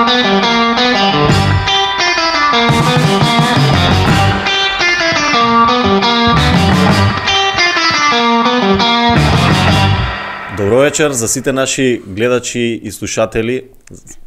Добро вечер за сите наши гледачи и слушатели.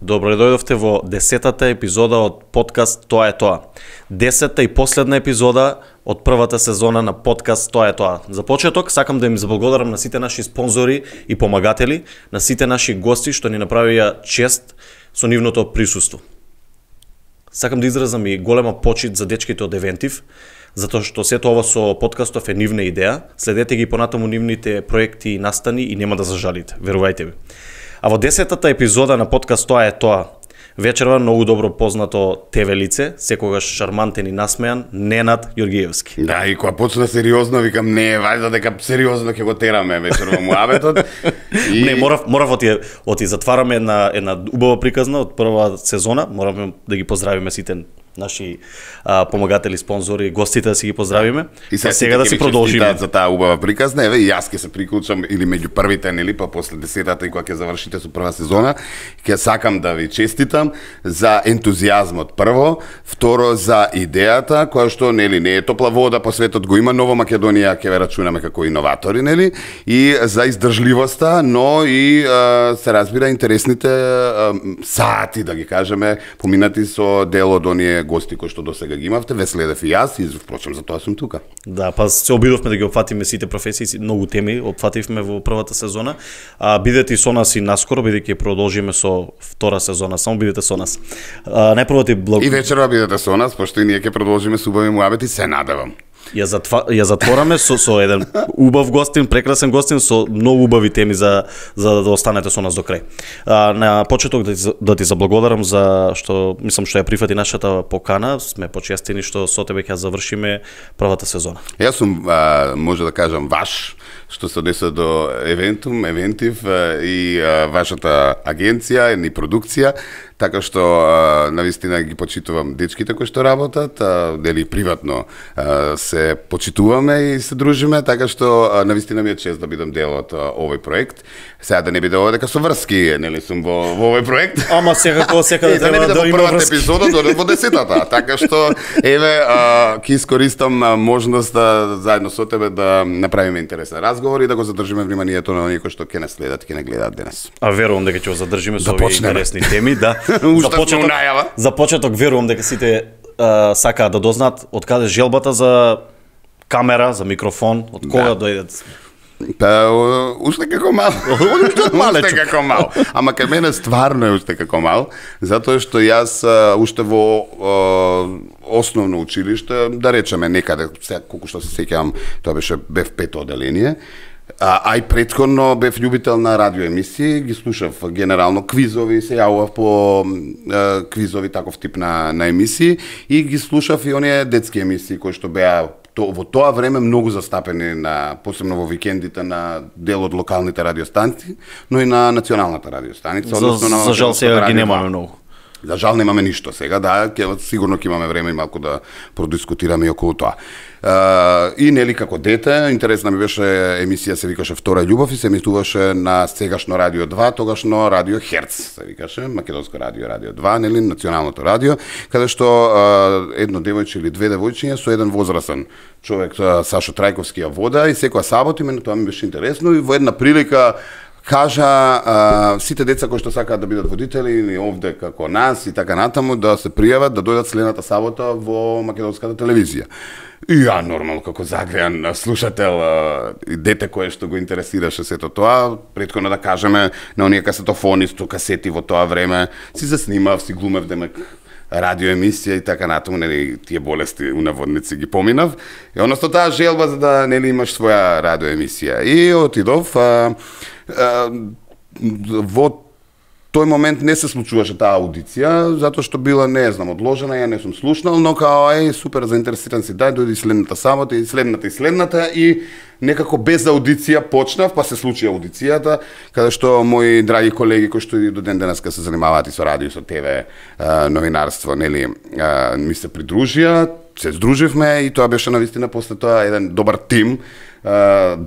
Добро дојдовте во 10-та епизода од подкаст Тоа е тоа. 10-та и последна епизода од првата сезона на подкаст Тоа е тоа. За почеток сакам да им заблагодарам на сите наши спонзори и помагатели, на сите наши гости што ни направија чест со нивното присуство. Сакам да изразам и голема почит за дечките од Евентив, затоа што сето ова со подкастов е нивна идеја. Следете ги понатаму нивните проекти и настани и нема да зажалите, верувајте ми. А во 10-та епизода на подкаст Тоа е тоа, вечерва многу добро познато ТВ лице, секогаш шармантен и насмејан, Ненад Јоргиевски. Да, и кога почна сериозно, викам, не, вајда дека сериозно ќе го тераме вечерва муабетот. И... Не, морав оти затвараме една убава приказна од прва сезона, мораме да ги поздравиме сите наши помагатели, спонзори, гостите да си ги поздравиме. И сега да си продолжиме за таа убава приказна. Еве и јас ќе се приклучам или меѓу првите, нели, па после 10-та и кога ќе завршите со прва сезона, ќе сакам да ви честитам за ентузијазмот прво, второ за идејата која што нели не е топла вода по светот, го има Нова Македонија, ќе ве рачунаме како иноватори, нели, и за издржливоста, но и се разбира интересните сати, да ги кажеме, поминати со дел од оние гости кои што досега ги имавте, ве следев и јас и впрочем за тоа сум тука. Да, па се обидовме да ги опфатиме сите професии, многу теми опфативме во првата сезона. Бидете и со нас и наскоро, бидејќи продолжиме со втора сезона, само бидете со нас. Најпрво ти И вечерва бидете со нас, пошто и ние ќе продолжиме со убави муабети, се надевам. Ја затвораме со еден убав гостин, прекрасен гостин, со многу убави теми за да останете со нас до крај. На почеток да ти заблагодарам за што мислам што ја прифати нашата покана, сме почестени што со тебе ќе завршиме првата сезона. Јас сум може да кажам ваш, што се однесува до Евентив и вашата агенција и продукција, така што навистина ги почитувам дечките кои што работат, дели приватно се почитуваме и се дружиме, така што навистина ми е чест да бидам дел од овој проект. Сега да не биде ова дека со врски, нели сум во овој проект. Ама секако да треба да има првата епизода до 10-та, така што еве ќе искористам можноста заедно со тебе да направиме интересен разговор и да го задржиме вниманието на оние кои што ќе не следат, ќе не гледаат денес. Верувам дека ќе го задржиме со овие интересни теми, да. За почеток верувам дека сите сакаат да дознаат од каде желбата за камера, за микрофон, од кога дојдат. Па, уште како мал. Уште како мал. Ама кај мене стварно е уште како мал, затоа што јас уште во основно училиште, да речеме некаде, колку што се сеќавам, тоа бев пето оделение. А и претходно бев љубител на радиоемисии, ги слушав генерално квизови, се јавував по квизови таков тип на емисии и ги слушав и оние детски емисии кои што беа во тоа време многу застапени посебно во викендите на дел од локалните радиостанции, но и на националната радиостаница, односно за жал сега ги немаме многу. За жал немаме ништо сега, да, сигурно ќе имаме време и малку да продискутираме и околу тоа. И нели како дете, интересна ми беше емисија, се викаше Втора љубов и се емитуваше на сегашно Радио 2, тогашно Радио Херц, се викаше, Македонско радио, Радио 2, нели, националното радио, каде што едно девојче или две девојчиња со еден возрасен човек, Сашо Трајковски ја вода и секоја сабота, мене тоа ми беше интересно и во една прилика кажа сите деца кои што сакаат да бидат водители или овде како нас и така натаму да се пријават да дојдат следната сабота во македонската телевизија. И ја нормално како загрејан слушател и дете кое што го интересираше сето тоа, претходно да кажеме на оние касетофони со касети во тоа време, си заснимав, си глумев демек радиоемисија и така натаму, нели тие болести у наводници ги поминав. И односно таа желба за да нели имаш своја радиоемисија. И отидов во тој момент не се случуваше таа аудиција, затоа што била, не знам, одложена, ја не сум слушнал, но као супер заинтересиран си, дојди следната сабота и следната и некако без аудиција почнав, па се случи аудицијата, каде што мои драги колеги кои што и до ден денеска се занимаваат и со радио, со ТВ, новинарство, нели, ми се придружија. се здруживме и тоа беше навистина после тоа еден добар тим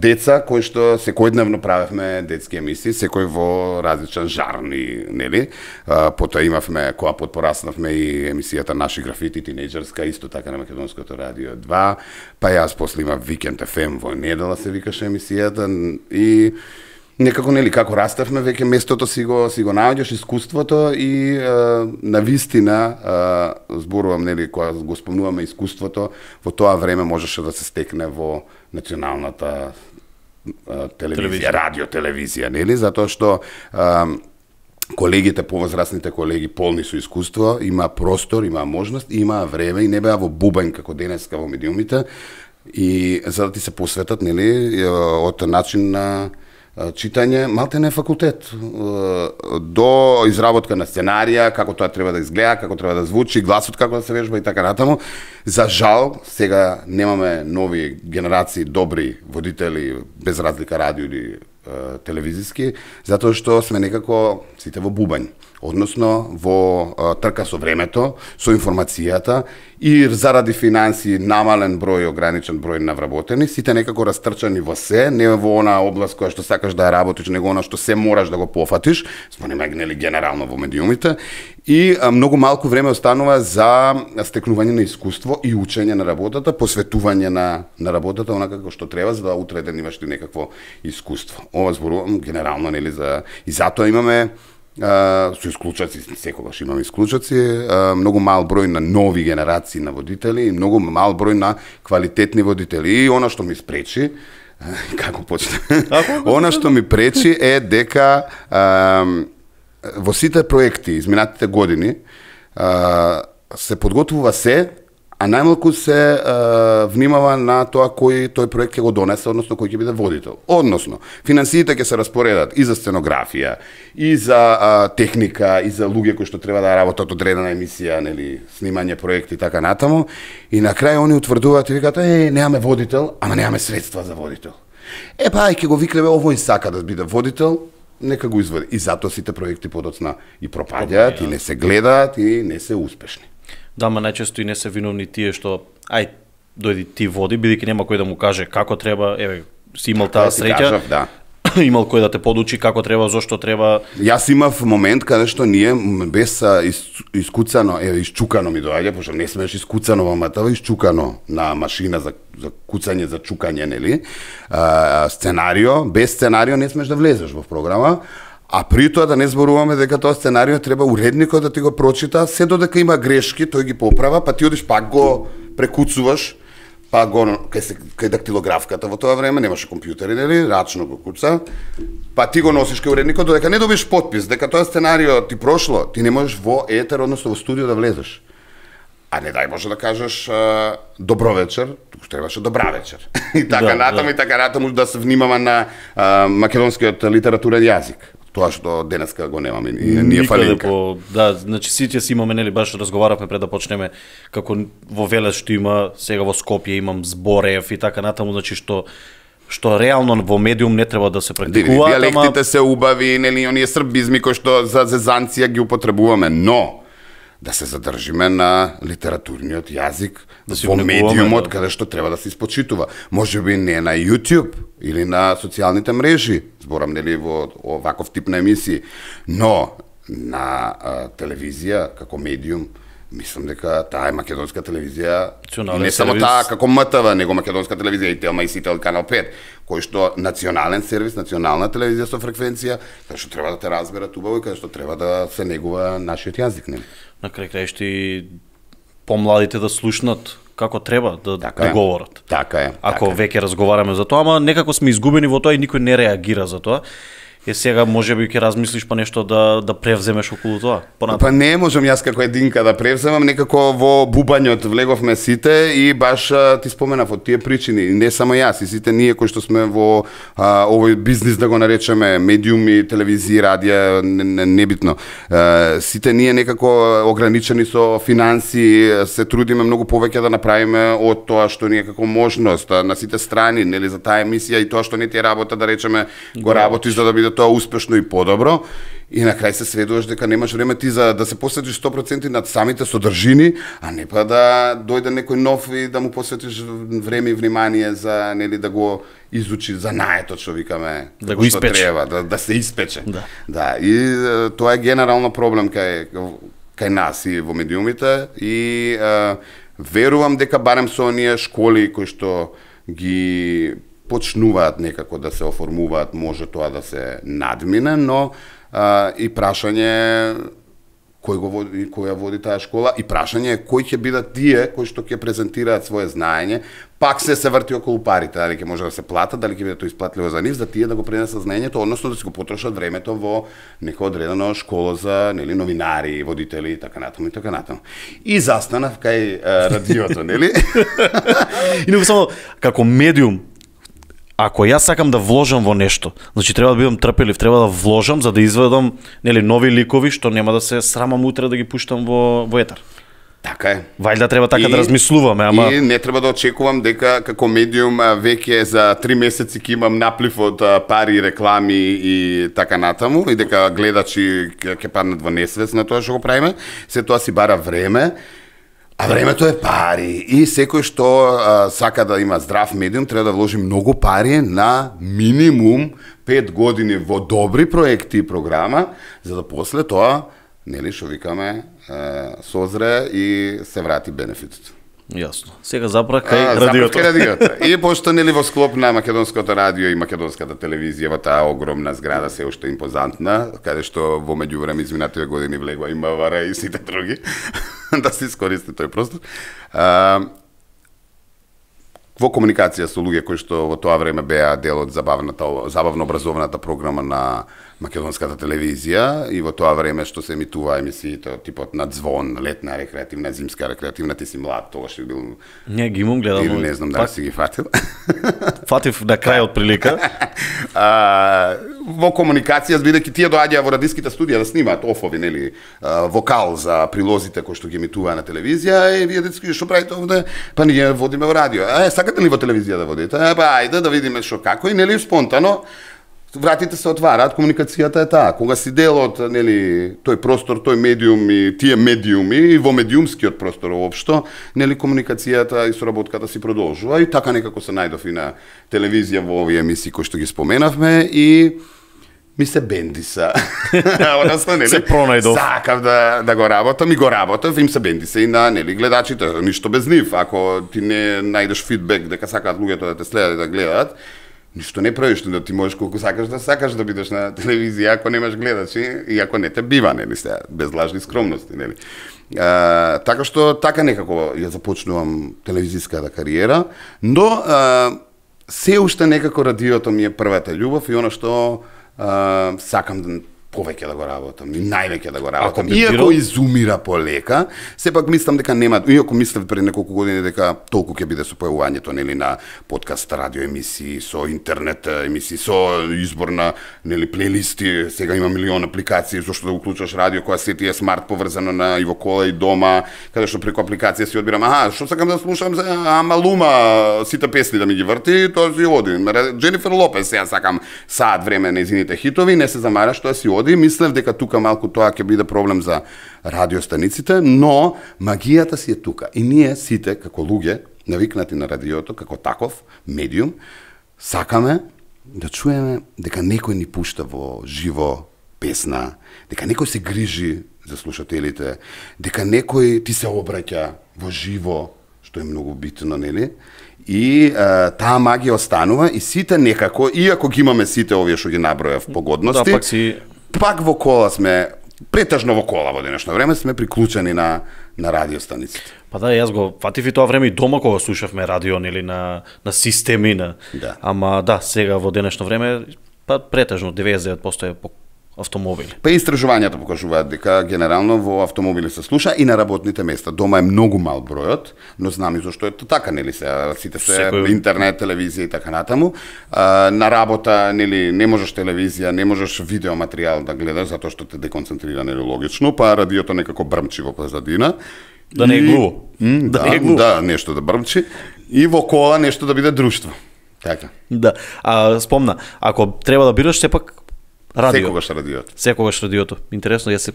деца кои што секојдневно правевме детски емисии, секој во различен жарни, нели? Потоа имавме, кога потпораснавме и емисијата Наши графити тинејџерска, исто така на Македонското радио 2, па јас после имав Викенд ФМ во недела се викаше емисијата и некако, нели, како раставме, веќе местото си го наоѓаш, искуството и навистина, зборувам, нели, кога го спомнуваме искуството, во тоа време можеше да се стекне во националната телевизија, радио-телевизија, нели, затоа што колегите, повозрастните колеги, полни со искуство, има простор, има можност, има време и не беа во бубањ како денеска во медиумите, и за да ти се посветат, нели, од начин на читање, малте не факултет, до изработка на сценарија, како тоа треба да изгледа, како треба да звучи, гласот како да се вежба и така натаму. За жал, сега немаме нови генерации добри водители, без разлика радио или телевизиски, затоа што сме некако сите во бубањ, односно во трка со времето, со информацијата и заради финанси намален број, ограничен број на вработени, сите некако растрчани во се, не во она област која што сакаш да ја работиш, него она што се мораш да го пофатиш, спомнеме нели генерално во медиумите, и многу малку време останува за стекнување на искуство и учење на работата, посветување на работата онака како што треба, за да утре ден имаш ти некакво искуство. Ова зборувам генерално, нели, и затоа имаме со исклучоци, секогаш имаме исклучоци, многу мал број на нови генерации на водители и многу мал број на квалитетни водители. И она што ми спречи, како почне? Она што ми пречи е дека во сите проекти изминатите години се подготвува се, а најмалку се внимава на тоа кој тој проект ќе го донесе, односно кој ќе биде водител. Односно, финансиите ќе се распоредат и за сценографија, и за техника, и за луѓе кои што треба да работат одредена емисија, нели, снимање проекти и така натаму. И на крај они утврдуваат и викаат: немаме водител, ама немаме средства за водител. Па, ќе го викнеме, овој сака да биде водител, нека го извади. И затоа сите проекти подоцна и пропаѓаат, и не се гледаат, и не се успешни. Да, ма најчесто и не се виновни тие што дојди ти води, бидејќи нема кој да му каже како треба, си имал таа среќа. Да. Имал кој да те подучи како треба, зошто треба. Јас имав момент каде што ние без искуцано, исчукано ми доаѓа, пошто не смееш искуцано во матава, исчукано на машина за куцање, за чукање, нели? Сценарио, без сценарио не смееш да влезеш во програма. А при тоа да не зборуваме дека тоа сценарио треба уредникот да ти го прочита, се додека има грешки, тој ги поправа, па ти одиш пак го прекуцуваш, па го кај дактилографката во тоа време, немаше компјутери, нели, рачно го куца, па ти го носиш кај уредникот, додека не добиеш потпис, дека тоа сценарио ти прошло, ти не можеш во етер, односно во студио да влезеш. А не дај Боже да кажеш добро вечер, туку требаше добра вечер. И така натаму, и така натаму да се внимава на македонскиот литературен јазик. Тоа што денеска го немаме, ние фалинка. Да, значи сите си имаме, нели, баш разговаравме пред да почнеме, како во Велес што има, сега во Скопје имам Зборев и така натаму, значи што реално во медиум не треба да се практикува. Диалектите се убави, нели, оние србизми кои што за зезанција ги употребуваме, но да се задржиме на литературниот јазик во медиумот, каде што треба да се испочитува. Може би не на YouTube или на социјалните мрежи, зборам, нели, во оваков тип на емисии, но на телевизија како медиум, мислам дека таа е македонска телевизија, и не само таа како МТВ, него македонска телевизија и Телма и Сител канал 5, кој што национален сервис, национална телевизија со фреквенција, каде што треба да те разберат убаво и каде што треба да се негува нашиот јазик, нели? На крај краишти помладите да слушнат како треба да говорат. Така е. Ако веќе разговараме за тоа, ама некако сме изгубени во тоа и никој не реагира за тоа. Сега можеби ќе размислиш па нешто да превземеш околу тоа. Па не можам јас како единка да превземам, некако во бубањот влеговме сите и баш ти споменав од тие причини, не само јас, и сите ние кои што сме во овој бизнис, да го наречеме, медиуми, телевизија, радија, небитно. Сите ние некако ограничени со финанси, се трудиме многу повеќе да направиме од тоа што ни е како можност на сите страни, нели, за таа емисија и тоа што не ти е работа, да речеме, го работиш за да биде биде тоа успешно и подобро. И на крај се сведуваш дека немаш време ти за да се посветиш 100% над самите содржини, а не па да дојде некој нов и да му посветиш време и внимание за нели да го изучи знаеето што викаме, да го испече, треба, да се испече. Да, и тоа е генерално проблем кај нас и во медиумите и верувам дека барем со оние школи кои што ги почнуваат некако да се оформуваат, може тоа да се надмине, но и прашање кој ја води таа школа и прашање кој ќе бидат тие кои што ќе презентираат свое знаење, пак се врти околу парите, дали ќе може да се платат, дали ќе биде тоа исплатливо за нив, за тие да го пренесат знаењето, односно да си го потрошат времето во нека одредена школа за нели новинари, водители и така натаму и така натаму. И застанав кај радиото, нели? И не само како медиум. Ако јас сакам да вложам во нешто, значи треба да бидам трпелив, треба да вложам за да изведам нели нови ликови што нема да се срамам утре да ги пуштам во етер. Така е. Вајда треба така да размислуваме, ама и не треба да очекувам дека како медиум веќе за 3 месеци ќе имам наплив од пари, реклами и така натаму и дека гледачи ќе паднат во несвест на тоа што го правиме. Се тоа си бара време. А времето е пари и секој што сака да има здрав медиум треба да вложи многу пари на минимум 5 години во добри проекти и програма, за да после тоа, нели што викаме, созре и се врати бенефитот. Јасно. Сега запра кај радиото. И пошто нели во склоп на македонското радио и македонската телевизија во таа огромна зграда се уште импозантна, каде што во меѓувреме изминативе години влегува и МВР и сите други, да се искористи тој простор. Во комуникација со луѓе кои што во тоа време беа дел од забавно образовната програма на македонската телевизија и во тоа време што се емитува емисиите од типот на Звон, летна рекреативна, зимска рекреативна, ти си млад, тогаш си бил. Не ги имам гледал. Или не знам дали си ги фатил. Фатив на крај од прилика. Во комуникација, бидејќи тие доаѓаа во радиските студија да снимаат офови, нели, вокал за прилозите кои што ги емитуваа на телевизија, и вие детски што правите овде? Па ние водиме во радио. Сакате ли во телевизија да водите? Па ајде да видиме што како и нели спонтано вратите се отвараат, комуникацијата е таа. Кога си дел од нели тој простор, тој медиум и тие медиуми и во медиумскиот простор воопшто, нели комуникацијата и соработката си продолжува и така некако се најдов и на телевизија во овие емисии кои што ги споменавме и ми се бендиса. Односно, нели, се пронајдов. Сакав да го работам и го работав, им се бендиса и на нели гледачите, ништо без нив. Ако ти не најдеш фидбек дека сакаат луѓето да те следат и да гледаат, ништо не правиш, да ти можеш колку сакаш да бидеш на телевизија ако немаш гледачи и ако не те бива, нели, без лажни скромности, нели. Така што така некако ја започнувам телевизиската кариера, но се уште некако радиото ми е првата љубов и она што сакам да повеќе да го работам и највеќе да го работам. Иако изумира полека, сепак мислам дека нема, иако мислев пред неколку години дека толку ќе биде со појавувањето нели на подкаст, радио емисии, со интернет емисии, со избор на нели плейлисти, сега има милион апликации зашто да уклучаш радио која се ти е смарт поврзано на и во кола и дома, каде што преку апликација си одбирам, што сакам да слушам за Малума, сите песни да ми ги врти, тоа си оди. Дженифер Лопес сега сакам саат време на незините хитови, не се замараш, тоа си оди. Мислев дека тука малку тоа ќе биде проблем за радиостаниците, но магијата си е тука. И ние сите, како луѓе, навикнати на радиото, како таков медиум, сакаме да чуеме дека некој ни пушта во живо песна, дека некој се грижи за слушателите, дека некој ти се обраќа во живо, што е многу битно, нели? И таа магија останува и сите некако, иако ги имаме сите овие што ги набројав погодности, пак во кола сме, претежно во кола во денешно време сме приклучени на радиостаниците. Па да, јас го фатив и тоа време и дома кога слушавме радио, нели, на системи, да. Ама да, сега во денешно време, па претежно 99% е по автомобили. Па истражувањата покажуваат дека генерално во автомобили се слуша и на работните места. Дома е многу мал бројот, но знам и зашто е така, нели, сите се интернет, телевизија и така натаму. На работа, нели, не можеш телевизија, не можеш видео материјал да гледаш затоа што те деконцентрира, нели, логично, па радиото некако брмчи во позадина. Да не е глуво. Да, нешто да брмчи. И во кола нешто да биде друштво. Така. Да. Спомна, ако треба да бираш, сепак Радио. Секогаш радиото. Интересно, јас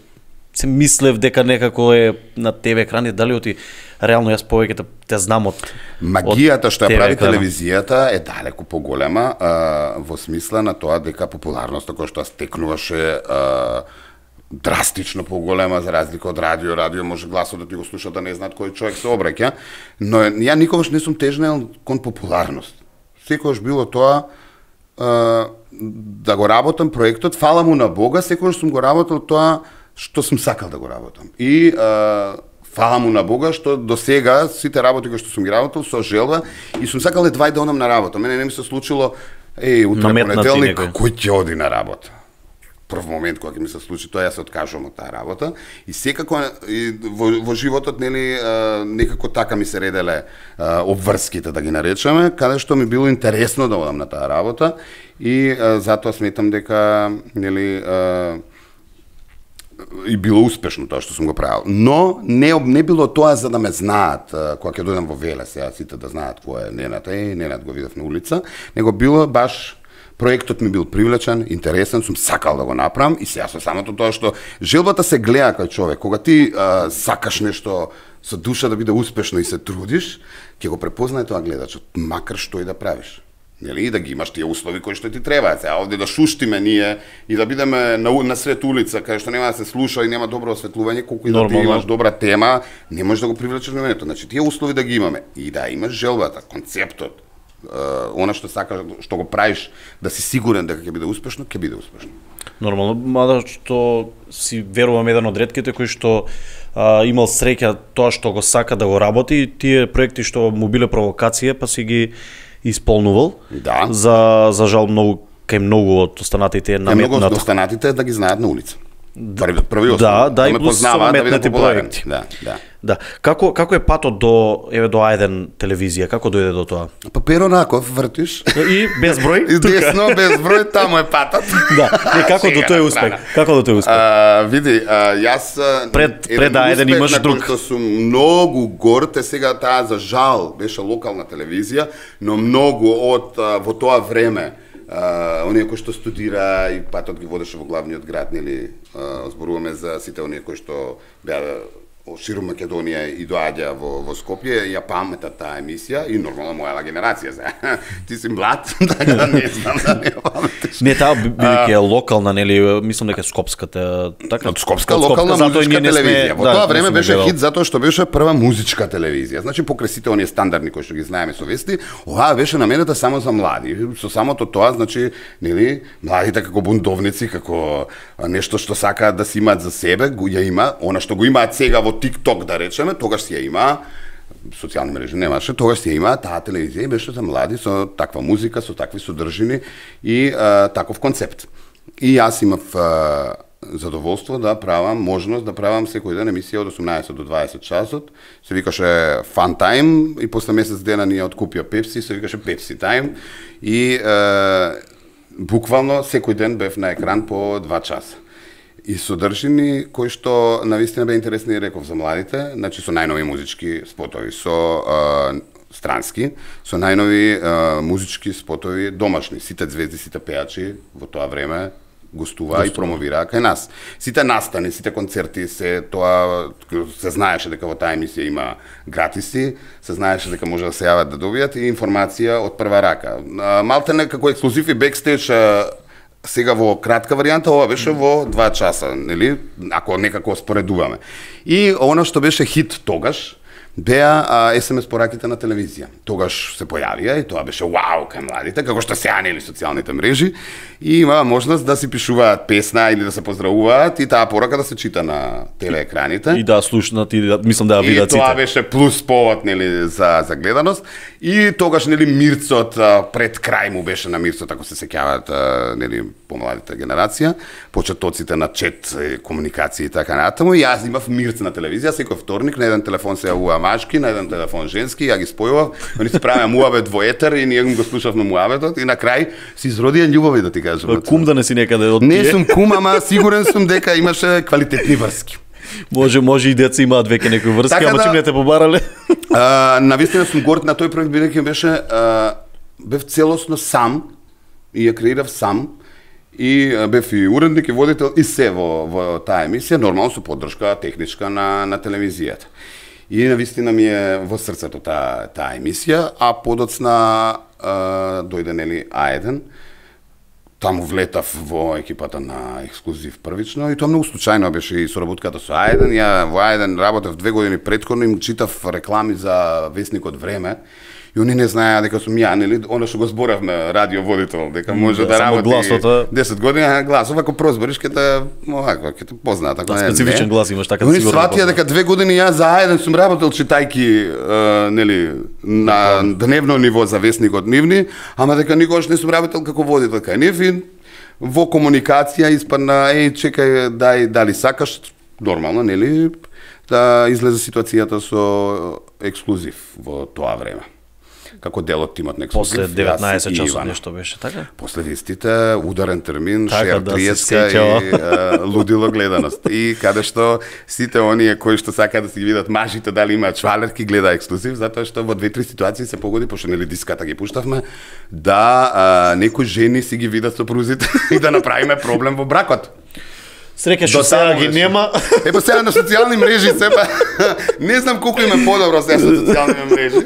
се мислев дека некако е на ТВ екрани, дали оти реално јас повеќе те знам од магијата што ја прави телевизијата е далеку поголема во смисла на тоа дека популарноста која што стекнуваше драстично поголема за разлика од радио. Радио може гласот да ти го слуша да не знаат кој човек се обраќа, но ја никогаш не сум тежнел кон популарност. Секогаш било тоа да го работам проектот, фала му на Бога, секогаш сум го работил тоа што сум сакал да го работам. И фала му на Бога што до сега сите работи кои што сум ги работил со желба и сум сакал едва да одам на работа. Мене не ми се случило утре понеделник кој ќе оди на работа. Прв момент кога ќе ми се случи тоа, јас се откажувам од таа работа и секако во животот нели некако така ми се ределе обврските да ги наречеме, каде што ми било интересно да одам на таа работа и затоа сметам дека нели и било успешно тоа што сум го правил. Но не било тоа за да ме знаат кога ќе дојдам во Веле, сега сите да знаат кој е Ненад, Ненад го видов на улица, него било баш проектот ми бил привлечен, интересен, сум сакал да го направам и сега со самото тоа што желбата се гледа кај човек. Кога ти сакаш нешто со душа да биде успешно и се трудиш, ќе го препознае тоа гледачот, макар што и да правиш. Нели, и да ги имаш тие услови кои што ти требаат. Сега овде да шуштиме ние и да бидеме на сред улица кај што нема да се слуша и нема добро осветлување, колку и да ти имаш добра тема, не можеш да го привлечеш вниманието. Значи тие услови да ги имаме и да имаш желбата, концептот, она што сакаш, што го правиш, да си сигурен дека ќе биде успешно, ќе биде успешно. Нормално, мада што си верувам еден од ретките кој што имал среќа тоа што го сака да го работи, тие проекти што му биле провокација, па си ги исполнувал. Да. За жал кај многу од останатите наметнат. Многу од останатите да ги знаат на улица. Први основа. Да, и плюс наметнати проекти. Да. Како е патот до А1 телевизија? Како дојде до тоа? Па Перо Раков вртиш. И без број? И десно, без број, таму е патот. Да. И како до тој успех? Како до тој успех? Види, јас пред А1 имаш друг. Што сум многу горд, сега таа за жал беше локална телевизија, но многу од во тоа време оние кои што студира и патот ги водеше во главниот град, нели, зборуваме за сите оние кои што беа ширум Македонија и доаѓа во Скопје, ја паметат таа емисија и нормално моја генерација за. Ти си млад, така да не знам да не паметиш. Не, таа бидејќи е локална, нели, мислам дека скопската, така. Скопска локална музичка телевизија. Во тоа време беше хит затоа што беше прва музичка телевизија. Значи покрај сите оние стандардни кои што ги знаеме со вести, оваа беше наменета само за млади. Со самото тоа, значи, нели, младите како бунтовници, како нешто што сакаат да си имаат за себе, ја има, она што го имаат сега во TikTok да речеме, тогаш си ја има, социјални мрежи немаше, тогаш си ја има, таа телевизија беше за млади со таква музика, со такви содржини и таков концепт. И јас имав задоволство да правам, можност да правам секој ден емисија од 18 до 20 часот, се викаше Fun Time и после месец дена ни ја откупија Pepsi, се викаше Pepsi Time и буквално секој ден бев на екран по 2 часа. И содржини кои што навистина бе интересни, реков, за младите, значи со најнови музички спотови, со странски, со најнови музички спотови домашни. Сите звезди, сите пејачи во тоа време гостуваа и промовираа кај нас. Сите настани, сите концерти, се тоа се знаеше дека во таа емисија има гратиси, се знаеше дека може да се јават да добијат и информација од прва рака. Малтене како ексклузив и бекстејдж сега во кратка варијанта, ова беше во 2 часа, нели, ако некако споредуваме. И она што беше хит тогаш, беа SMS пораките на телевизија. Тогаш се појавија и тоа беше вау кај младите, како што сега нели социјалните мрежи, и има можност да си пишуваат песна или да се поздравуваат и таа порака да се чита на телеекраните. И да слушнат и мислам да ја видат сите. И тоа беше плюс повод нели за гледаност. И тогаш нели Мирцот пред крај му беше на Мирцот, ако се сеќаваат нели помладите генерација, почетоците на чет, комуникација и така натаму. И јас имав Мирц на телевизија, секој вторник на еден телефон се јавува машки, на еден телефон женски, ја ги спојував, они се правеа муабет во етер и ние го слушавме муабетот и на крај се изродија љубови, да ти кажам. Кум да не си некаде од тие. Не сум кум, ама сигурен сум дека имаше квалитетни врски. Може и деца имаат веќе некои врски, така ама чим не те побарале? Навистина сум горд на тој проект, бидејќи беше бев целосно сам и ја креирав сам и бев и уредник и водител и се во таа емисија, нормално со поддршка техничка на телевизијата. И навистина ми е во срцето таа емисија, а подоцна дојде нели А1. Таму влетав во екипата на Ексклузив првично и тоа многу случајно беше и соработката со А1. Ја во А1 работев 2 години претходно и читав реклами за весникот Време. И они не знаеа дека сум ја, нели, она што го зборавме, радиоводител, дека може да работи гласота... 10 години, гласов, ако прозбориш, ќе те познаат. Да, специфичен глас имаш, така сигурно. Они сватија дека 2 години јас за А1 сум работел читајки, нели, на дневно ниво за весникот Нивни, ама дека никогаш не сум работел како водител кај нив и во комуникација испадна, чекај, дали сакаш, нормално, нели, да излезе ситуацијата со Ексклузив во тоа време. Како дел од тимот на Ексклузив. После 19 часот нешто беше, така? После вестите, ударен термин, така, шер триеска и лудило гледаност. И каде што сите оние кои што сакаат да си ги видат мажите дали имаат швалерки, гледа Ексклузив, затоа што во 2-3 ситуации се погоди, пошто нели диската ги пуштавме, да некои жени си ги видат сопрузите и да направиме проблем во бракот. Среќа што сега ги нема. Па сега на социјални мрежи сепа не знам колку им е подобро сега со социјални мрежи,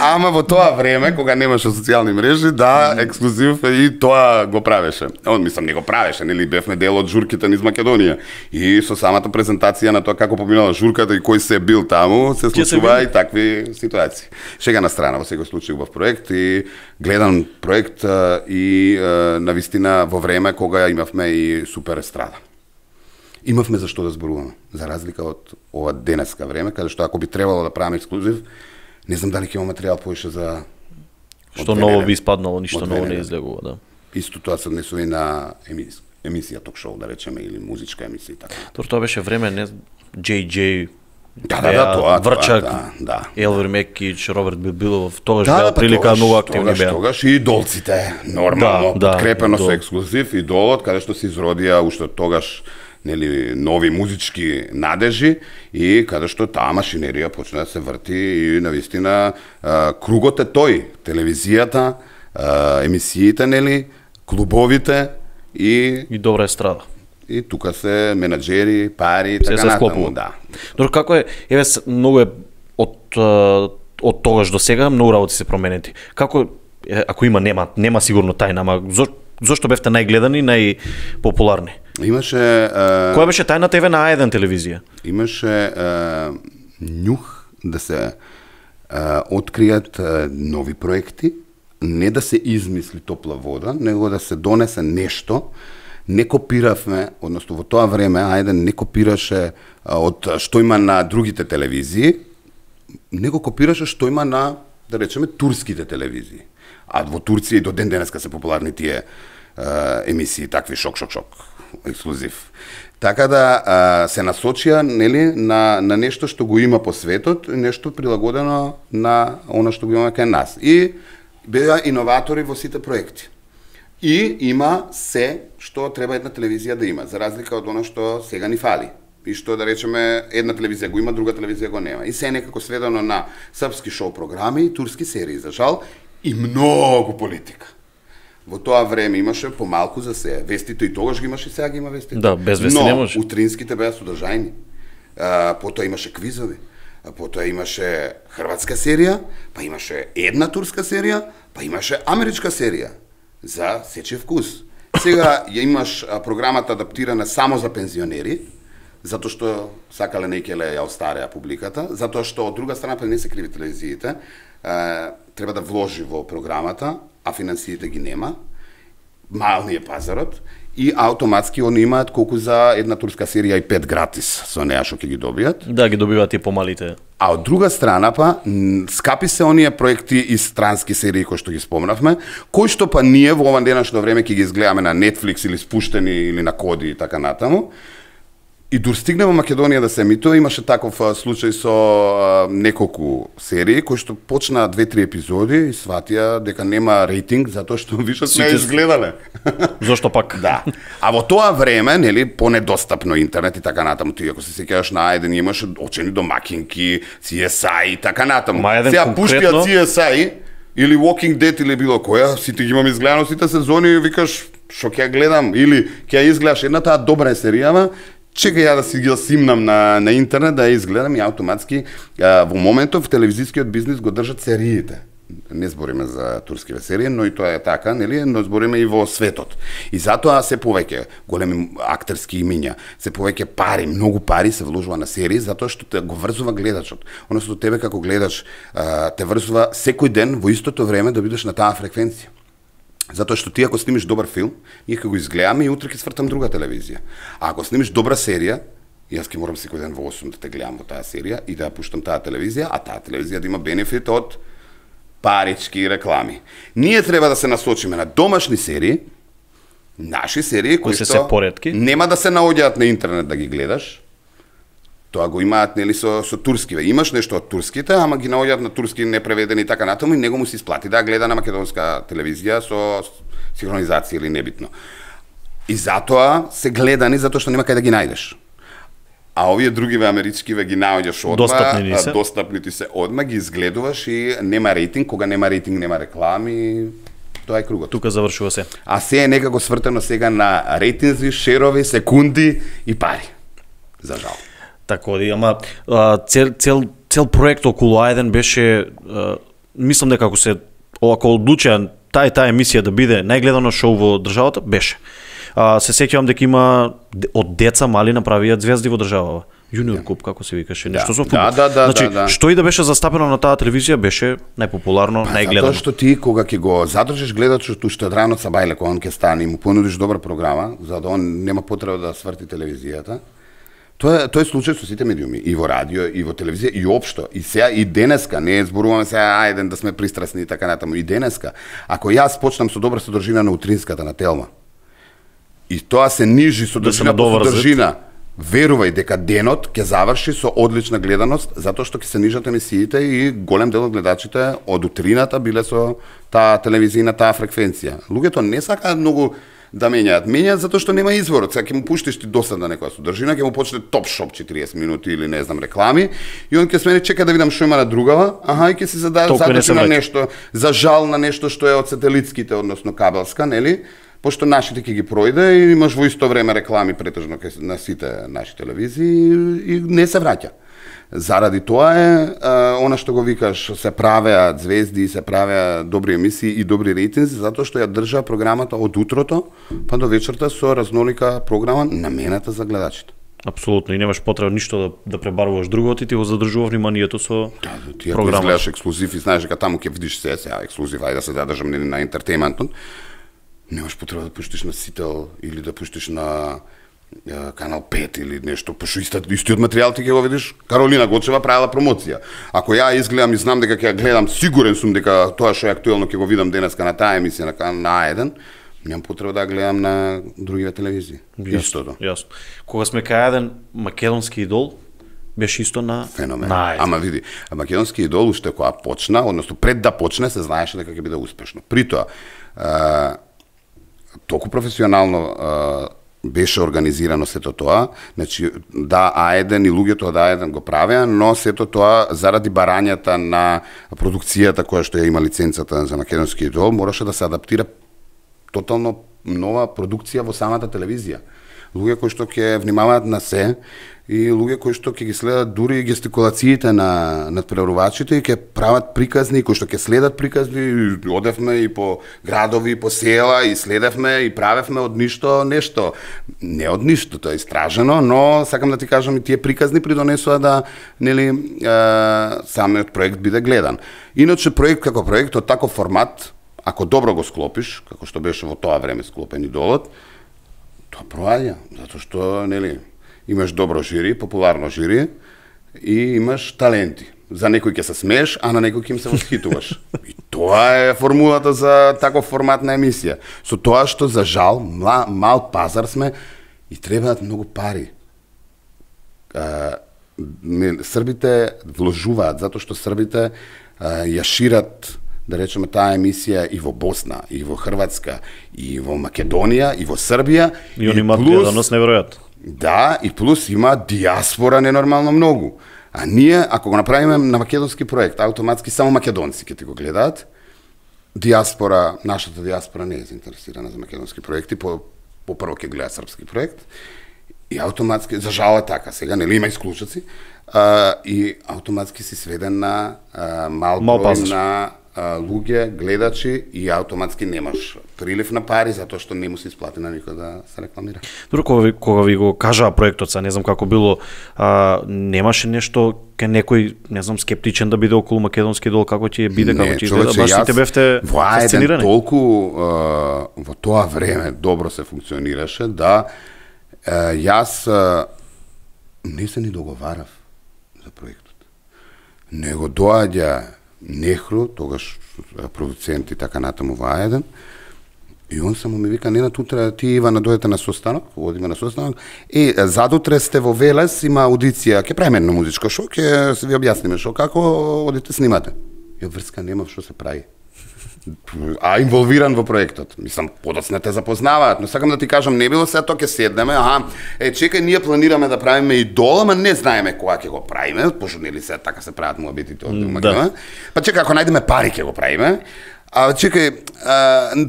ама во тоа време кога немаше социјални мрежи, да, Ексклузив и тоа го правеше. Мислам не го правеше, нели бевме дел од журките низ Македонија и со самата презентација на тоа како поминала журката и кој се бил таму, се случува и такви ситуации. Шега на страна, во секој случај убав проект и гледан проект и навистина во време кога имавме и супер естрада. Имавме за што да зборуваме, за разлика од ова денеска време, каде што ако би требало да правиме Ексклузив, не знам дали ќе имаме материјал поише за... Што ново би испаднало, ништо ново не излегува, да. Исто тоа се однесува и на емисија ток-шоу, да речеме, или музичка емисија и така. Тоа беше време, не, JJ, тоа, Врчак, да. Елвир Мекич, Роберт Билбилов, тогаш беа прилика многу активни беа. Тогаш и идолците, нормално, подкрепено со Ексклузив, идолот, каде што се изродија уште тогаш нели нови музички надежи и каде што таа машинерија почна да се врти и навистина кругот е тој, телевизијата, емисиите нели, клубовите и добра естрада. И тука се менаџери, пари, така натаму, да. Добро, како е, еве многу е од тогаш до сега многу работи се променети. Како ако нема сигурно тајна, ама зошто бевте најгледани, најпопуларни? Имаше... Која беше тајната еве на А1 телевизија? Имаше њух да се откријат нови проекти, не да се измисли топла вода, него да се донесе нешто. Не копиравме, односно во тоа време А1 не копираше од што има на другите телевизии, него копираше што има на, да речеме, турските телевизии. А во Турција и до ден денеска се популарни тие емисии, такви шок, Ексклузив. Така да се насочија нели на нешто што го има по светот, нешто прилагодено на она што го имаме кај нас. И беа иноватори во сите проекти. И има се што треба една телевизија да има, за разлика од она што сега ни фали. И што да речеме една телевизија го има, друга телевизија го нема. И се некако сведено на српски шоу програми и турски серии, за жал, и многу политика. Во тоа време имаше помалку за се. Вестите и тогаш ги имаше, сега ги има вестите. Да, без вести не може. Но утринските беа содржајни. Потоа имаше квизови. Потоа имаше хрватска серија, па имаше една турска серија, па имаше америчка серија за сечив вкус. Сега ја имаш програмата адаптирана само за пензионери, затоа што сакале некеле ја остареа публиката, затоа што од друга страна па не се криви телевизиите, треба да вложи во програмата, а финансиите ги нема, мални е пазарот, и автоматски они имаат колку за една турска серија и 5 гратис со неа што ќе ги добијат. Да, ги добиваат и помалите. А од друга страна па, скапи се оние проекти и странски серии кои што ги спомнавме, кои што па ние во ова денешно време ќе ги изгледаме на Netflix или спуштени или на Коди и така натаму. И дур стигнемо Македонија да се емитува, имаше таков случај со неколку серии кои што почнаа 2-3 епизоди и сватија дека нема рейтинг затоа што више не изгледале. Зошто пак? Да. А во тоа време, нели, понедостапно интернет и така натаму, ти ако се сеќаваш на А1 имаше очени домакинки, CSI и така натаму. Сега пуштија CSI или Walking Dead или било која, сите ги имаме изгледано сите сезони и викаш што ќе ја гледам, или ќе ја изгледаш една таа добра е серијава, чекај ја да си ги симнам на интернет, да ја изгледам и автоматски во моментов телевизискиот бизнис го држат сериите. Не збориме за турскиве серии, но и тоа е така, нели, но збориме и во светот. И затоа се повеќе големи актерски имиња, се повеќе пари, многу пари се вложува на серии, затоа што те го врзува гледачот. Односно тебе како гледач те врзува секој ден во истото време да бидеш на таа фреквенција. Затоа што ти ако снимиш добар филм, ние ќе го изгледаме и утре ќе свртам друга телевизија. А ако снимиш добра серија, јас ќе морам секој ден во 8 да те гледам во таа серија и да ја пуштам таа телевизија, а таа телевизија да има бенефит од парички реклами. Ние треба да се насочиме на домашни серии, наши серии кои што нема да се наоѓаат на интернет да ги гледаш. Тоа го имаат нели со турскиве. Имаш нешто од турските, ама ги наоѓаат на турски непреведени и така натаму и него му се исплати да гледа на македонска телевизија со синхронизација или небитно. И затоа се гледани затоа што нема кај да ги најдеш. А овие другиве америчкиве ги наоѓаш одма, достапни ти се одма, ги изгледуваш и нема рейтинг, кога нема рейтинг нема реклами, тоа е кругот. Тука завршува се. А се е некако свртено сега на рейтинзи, шерови, секунди и пари. За жал. Така да, ама цел проект околу Ајден беше, мислам дека ако одлучија таа емисија да биде најгледано шоу во државата, беше. Се сеќавам дека има од деца мали направиат звезди во државава. Јуниор Куп, како се викаше, нешто со фудбал. Значи, што и да беше застапено на таа телевизија, беше најпопуларно, најгледано. Затоа што ти кога ќе го задржиш гледачот уште од рано сабајле кога он ќе стане и му понудиш добра програма, за да он нема потреба да сврти телевизијата. Тоа е случај со сите медиуми, и во радио, и во телевизија, и општо. И сега и денеска, не зборуваме сега ајден да сме пристрасни и така натаму, и денеска. Ако јас почнам со добра содржина на утринската на Телма, и тоа се нижи содржина по содржина, верувај дека денот ќе заврши со одлична гледаност, затоа што ќе се нижат емисиите и голем дел од гледачите од утрината биле со таа телевизија, таа фреквенција. Луѓето не сакаат многу да менјаат затоа што нема изворот. Сега ќе му пуштиш ти досадна некоја содржина, ќе му почне топ шоп 40 минути или не знам реклами и он ќе смени чека да видам што има на другава, и ќе се задачи на нешто, за жал на нешто што е од сателитските, односно кабелска, нели? Пошто нашите ќе ги пројде и имаш во исто време реклами претежно на сите наши телевизии и не се враќа. Заради тоа е она што го викаш, се правеа звезди, се правеа добри емисии и добри рейтинзи, затоа што ја држа програмата од утрото па до вечерта со разнолика програма намената за гледачите. Апсолутно, и немаш потреба ништо да пребаруваш другото и ти го задржува вниманието со ти програма. Ти гледаш ексклузив и знаеш дека таму ќе видиш се, ексклузив, ајде да се задржам на ентертејментот. Немаш потреба да пуштиш на Сител или да пуштиш на Канал 5 или нешто, пошто истиот материјал ти ќе го видиш. Каролина Гочева правила промоција. Ако ја изгледам и знам дека ќе ја гледам, сигурен сум дека тоа што е актуелно ќе го видам денеска на таа емисија на А1, немам потреба да гледам на другиве телевизии. Истото. Јасно. Кога сме кај еден македонски идол, беше исто на феномен. Ама види, македонски идол уште кога почна, односно пред да почне се знаеше дека ќе биде успешно. Притоа толку професионално беше организирано сето тоа, значи да А1 и луѓето од А1 го правеа, но сето тоа заради барањата на продукцијата која што ја има лиценцата за македонски идол, мораше да се адаптира тотално нова продукција во самата телевизија. Луѓе кои што ќе внимаваат на се и луѓе кои што ќе ги следат дури и гестикулациите на надпреварувачите и ќе прават приказни, кои што ќе следат приказни. Одевме и по градови, и по села, и следевме и правевме од ништо нешто. Не од ништо, тоа е истражено, но сакам да ти кажам и тие приказни придонесоа да нели самиот проект биде гледан. Иначе проект како проект од таков формат, ако добро го склопиш, како што беше во тоа време склопен идолот, тоа проаѓа, затоа што нели имаш добро жири, популарно жири и имаш таленти. За некој ќе се смееш, а на некој ќе им се восхитуваш. И тоа е формулата за таков формат на емисија. Со тоа што за жал мал пазар сме и требаат многу пари. Србите вложуваат затоа што србите ја шират, да речеме, таа емисија и во Босна, и во Хрватска, и во Македонија, и во Србија. И они имаат гледаност неверојатно. Да, и плюс има диаспора ненормално многу. А ние, ако го направиме на македонски проект, автоматски само македонци ќе ти го гледаат, диаспора, нашата диаспора не е заинтересирана за македонски проекти, по прво ќе гледа српски проект, и автоматски, за жал е така, сега нели има исклучоци, и автоматски си сведен на мал број на луѓе, гледачи, и автоматски немаш прилив на пари, затоа што не му се исплати на никој да се рекламира. Дури кога ви го кажаа проектот, не знам како било, немаше нешто кај некој, не знам, скептичен да биде околу македонски идол, како ќе биде, како ќе изгледа, баш сите бевте фасцинирани. Толку во тоа време добро се функционираше да јас не се ни договарав за проектот. Него доаѓа Нехру, тогаш продуцент и така натаму во А1, и он само ми вика, Ненад, утре ти Ивана дојдете на состанок, одиме на состанок, и задутре сте во Велес, има аудиција, ќе правиме едно музичко шоу, ќе се ви објасниме шоу, како одите снимате. Ја врска нема што се прави. А инволвиран во проектот. Мислам, подоцна те запознаваат, но сакам да ти кажам, не било сега тоа ќе седнеме, чекај, ние планираме да правиме идол, ама не знаеме кога ќе го правиме, пошто нели сега така се прават муабетите од Македонија. Па чекај, ако најдеме пари ќе го правиме. Чекај,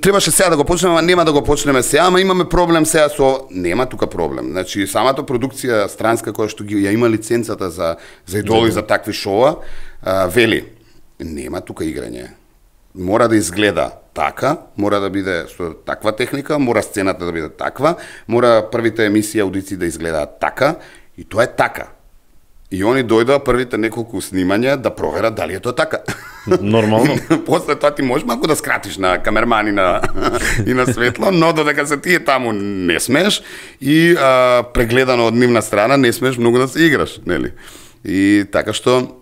требаше сега да го почнеме, ама нема да го почнеме сега, ама имаме проблем сега со... Нема тука проблем. Значи, самата продукција странска која што ја има лиценцата за идоли, за такви шоуа, вели, нема тука играње. Мора да изгледа така, мора да биде со таква техника, мора сцената да биде таква, мора првите емисии аудиции да изгледаат така, и тоа е така. И они дојдоа првите неколку снимања да проверат дали е тоа така. Нормално. После тоа ти можеш малку да скратиш на камерман и на светло, но додека се тие таму не смееш и прегледано од нивна страна не смееш многу да се играш, нели? И така што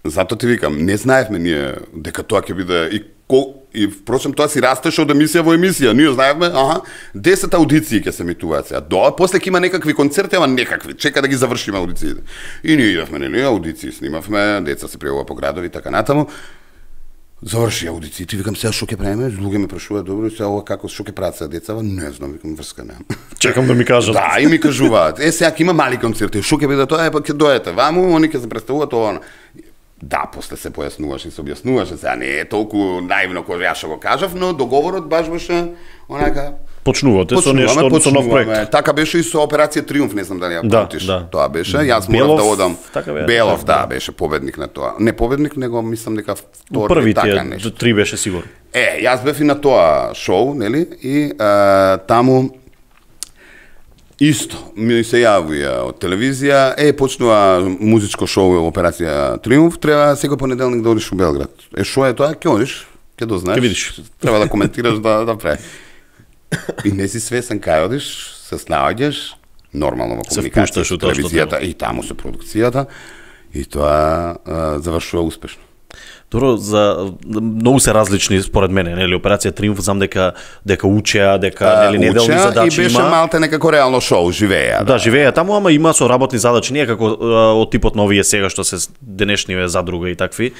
затоа ти викам, не знаевме ние дека тоа ќе биде и впрочем тоа си растеше од емисија во емисија. Ние знаевме, 10 аудиции ќе се емитуваат сега. После ќе има некакви концерти, ама некакви. Чека да ги завршиме аудициите. И ние идевме, нели, аудиции снимавме, деца се пријавува по градови и така натаму. Заврши аудициите, викам сега што ќе правиме? Луѓе ме прашуваат, добро, сега ова како што ќе прават сега децава? Не знам, викам, врска немам. Чекам да ми кажат. Да, и ми кажуваат. Сега ќе има мали концерти, што ќе биде тоа? Па ќе дојдете ваму, они ќе се представуваат ова. Да, после се појаснуваш и се објаснуваше, сега не е толку наивно кој јас што го кажав, но договорот баш беше онака... Почнувате со нешто, со нов проект. Така беше и со Операција Триумф, не знам дали ја памтиш. Тоа беше, јас морав да одам. Белов, да, беше победник на тоа. Не победник, него мислам дека втори така нешто. Првите 3 беше сигурно. Јас бев и на тоа шоу, нели? И таму исто, ми се јавија од телевизија, почнува музичко шоу Операција Триумф, треба секој понеделник да одиш у Белград. Шо е тоа? Ќе одиш, ќе дознаеш. Ќе видиш. Треба да коментираш да прави. И не си свесен кај одиш, се снаоѓаш, нормално во комуникација со телевизијата и таму со продукцијата, и тоа завршува успешно. Добро, многу се различни според мене, нели, Операција Триумф, знам дека учеа, дека нели неделни задачи има. И беше малте некако реално шоу, живееа. Да, живееа таму, ама има со работни задачи, не е како од типот на овие сега што се денешниве задруга и такви.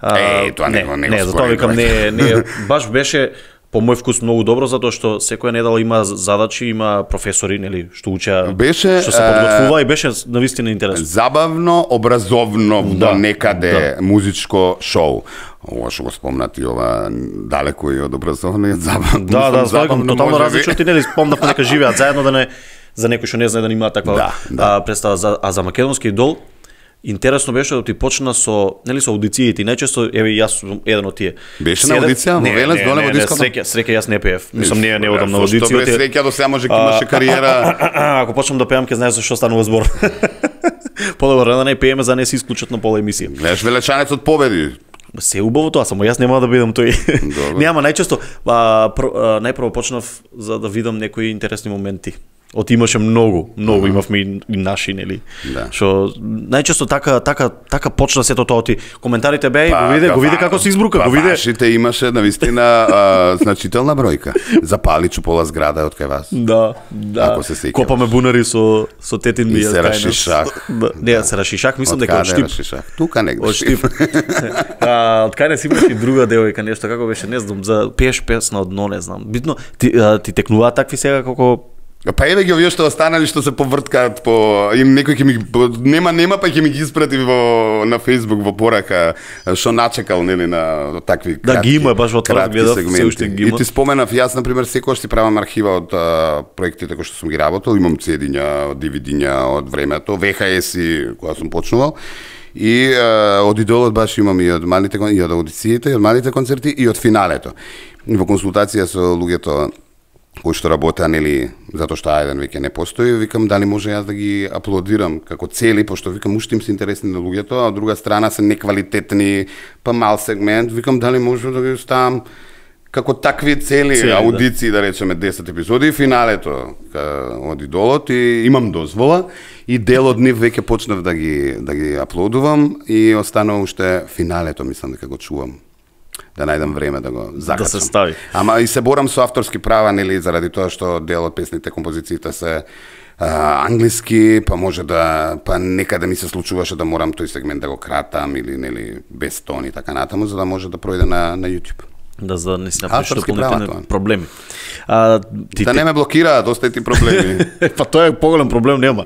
Тоа не затоа викам не, баш беше по мој вкус многу добро, затоа што секоја недела има задачи, има професори, нели, што учеа, што се подготвува, и беше навистина интересно. Забавно, образовно, некаде музичко шоу. Ова што го спомнати, ова далеко и од образовно, забавно. Да, тотално различно, ти нели спомнавме дека живеат заедно, да не за некој што не знае да има таква представа, за македонски идол. Интересно беше да ти почна со, нели, со аудициите, и најчесто, јас сум еден од тие. Беше на аудиција, во Велес, доле во диското? Среќа јас не пеев. Мислам, не одам на аудиција. Што бе среќа, до сега може имаше кариера. Ако почнам да пеам, ќе знаеш за што станува збор. Подобро да не пееме, за не се исклучат на пола емисија. Гледаш Велечанецот победи. Се убаво тоа, само јас нема да бидам тој. Не, ама најчесто, најпрво почнав за да видам некои интересни моменти. Имаше многу имавме и наши, нели. Што најчесто така почна сето тоа, коментарите беа, го виде како се избрука, го виде. Вашите имаше навистина значителна бројка. Запали чупола зграда од кај вас. Да. Копаме бунари со тетин ми. И се рашишах. Не, се рашишах, мислам дека од Штип. Тука негде. Од Штип. Од кај не си имаш и друга девојка, нешто како беше, не знам, за пееш песна од дно, не знам. Битно ти текнуваат такви сега како Па еве ги овие што останали што се поврткаат по им некој ќе ми нема па ќе ми ги испрати на Facebook во порака што начекал нели на такви кратки. Да ги има баш во тоа гледав, се уште ги има. И ти споменав јас на пример секогаш си правам архива од проектите кои што сум ги работел, имам CD-ња, DVD-ња од времето, VHS-и кога сум почнувал. И од идолот баш имам и од малите и од аудициите, и од малите концерти и од финалето. И во консултација со луѓето кои што работеа, нели, затоа што Ајден веќе не постои, викам дали може јас да ги аплодирам како цели, пошто викам уште им се интересни на луѓето, а од друга страна се неквалитетни, па мал сегмент, викам дали може да ги ставам како такви цели аудиции, да речеме 10 епизоди и финалето од идолот и имам дозвола и дел од нив веќе почнав да ги аплодувам и останува уште финалето, мислам дека го чувам. Да најдам време да го закачам. Да се стави. Ама и се борам со авторски права, нели, заради тоа што дел од песните, композициите се англиски, па може да, па некаде ми се случуваше да морам тој сегмент да го кратам или нели без тон и така натаму, за да може да пројде на YouTube. Да, за да не се напишат дополнителни проблеми. Да не ме блокираат, остајте проблеми. Па тоа е поголем проблем, нема.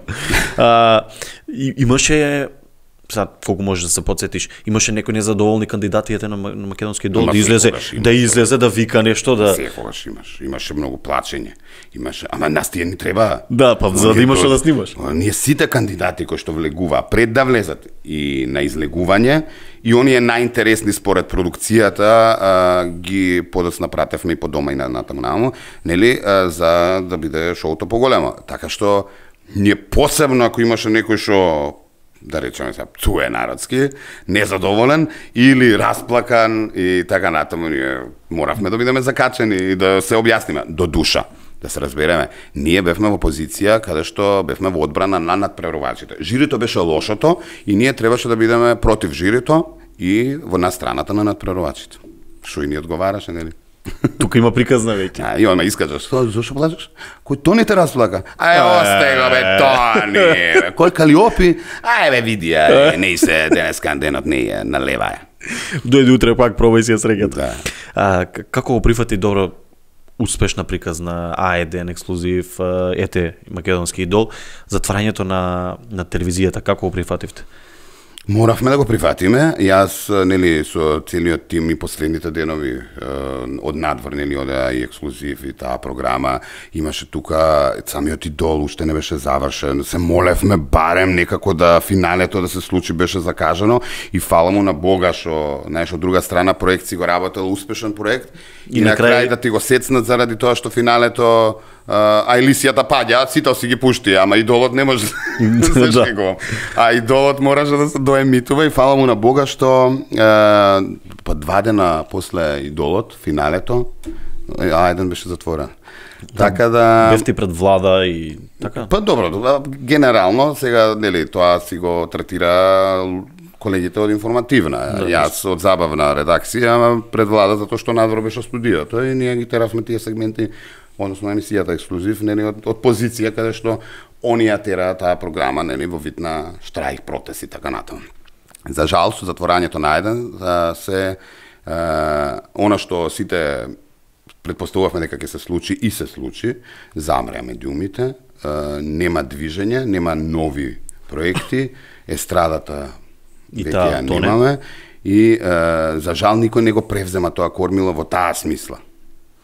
Имаше сега колку можеш да се потсетиш, имаше некои незадоволни кандидати на македонски идол да излезе да вика нешто да секогаш имаше многу плачење. Ама нас тие ни треба. Да, па за да имаш да снимаш. Ние сите кандидати кои што влегуваа пред да влезат и на излегување и оние најинтересни според продукцијата ги подоцна пратевме и по дома и натаму, нели, за да биде шоуто поголемо. Така што ние посебно ако имаше некој што да речеме сега пцуе народски, незадоволен или расплакан и така натаму, ние моравме да бидеме закачени и да се објасниме до душа. Да се разбереме, ние бевме во позиција каде што бевме во одбрана на надпреварувачите. Жирито беше лошото и ние требаше да бидеме против жирито и на страната на надпреварувачите. Што и ни одговараше, нели? Тука има приказна веќе. И он ме искажа, зашо плачеш? Кој Тони те расплака? Осте го бе Тони. Кој Калиопи? Бе види, не се денеска денот не налева. Дојди утре пак пробај си ја среќата. Како го прифати добро успешна приказна А1 ексклузив, ете македонски идол, затварањето на телевизијата, како го прифативте? Моравме да го прифатиме. Јас, нели, со целиот тим и последните денови од надвор, нели, одеа и ексклузив и таа програма, имаше тука самиот идол, уште не беше завршен. Се молевме барем некако да финалето да се случи, беше закажано и фала му на Бога што, знаеш, од друга страна проект си го работел успешен проект и на крај да ти го сецнат заради тоа што финалето Елисијата паѓа, сите си ги пушти, ама идолот не може да се го. А идолот мораше да се доемитува и фала му на Бога што па 2 дена после идолот, финалето, Ајден беше затворен. Така да бевте пред влада и така. Па добро, генерално сега нели тоа си го третира колегите од информативна, јас од забавна редакција пред влада затоа што надвор беше студиото и ние ги теравме тие сегменти, односно емисијата ексклузив, нели од позиција каде што оние тера таа програма, нели во вид на штрајк, протест и така натаму. За жал со затворањето на Ајден се она што сите предпоставувавме дека ќе се случи и се случи, замреа медиумите, нема движење, нема нови проекти, естрадата веќе ја немаме и за жал никој не го превзема тоа кормило во таа смисла.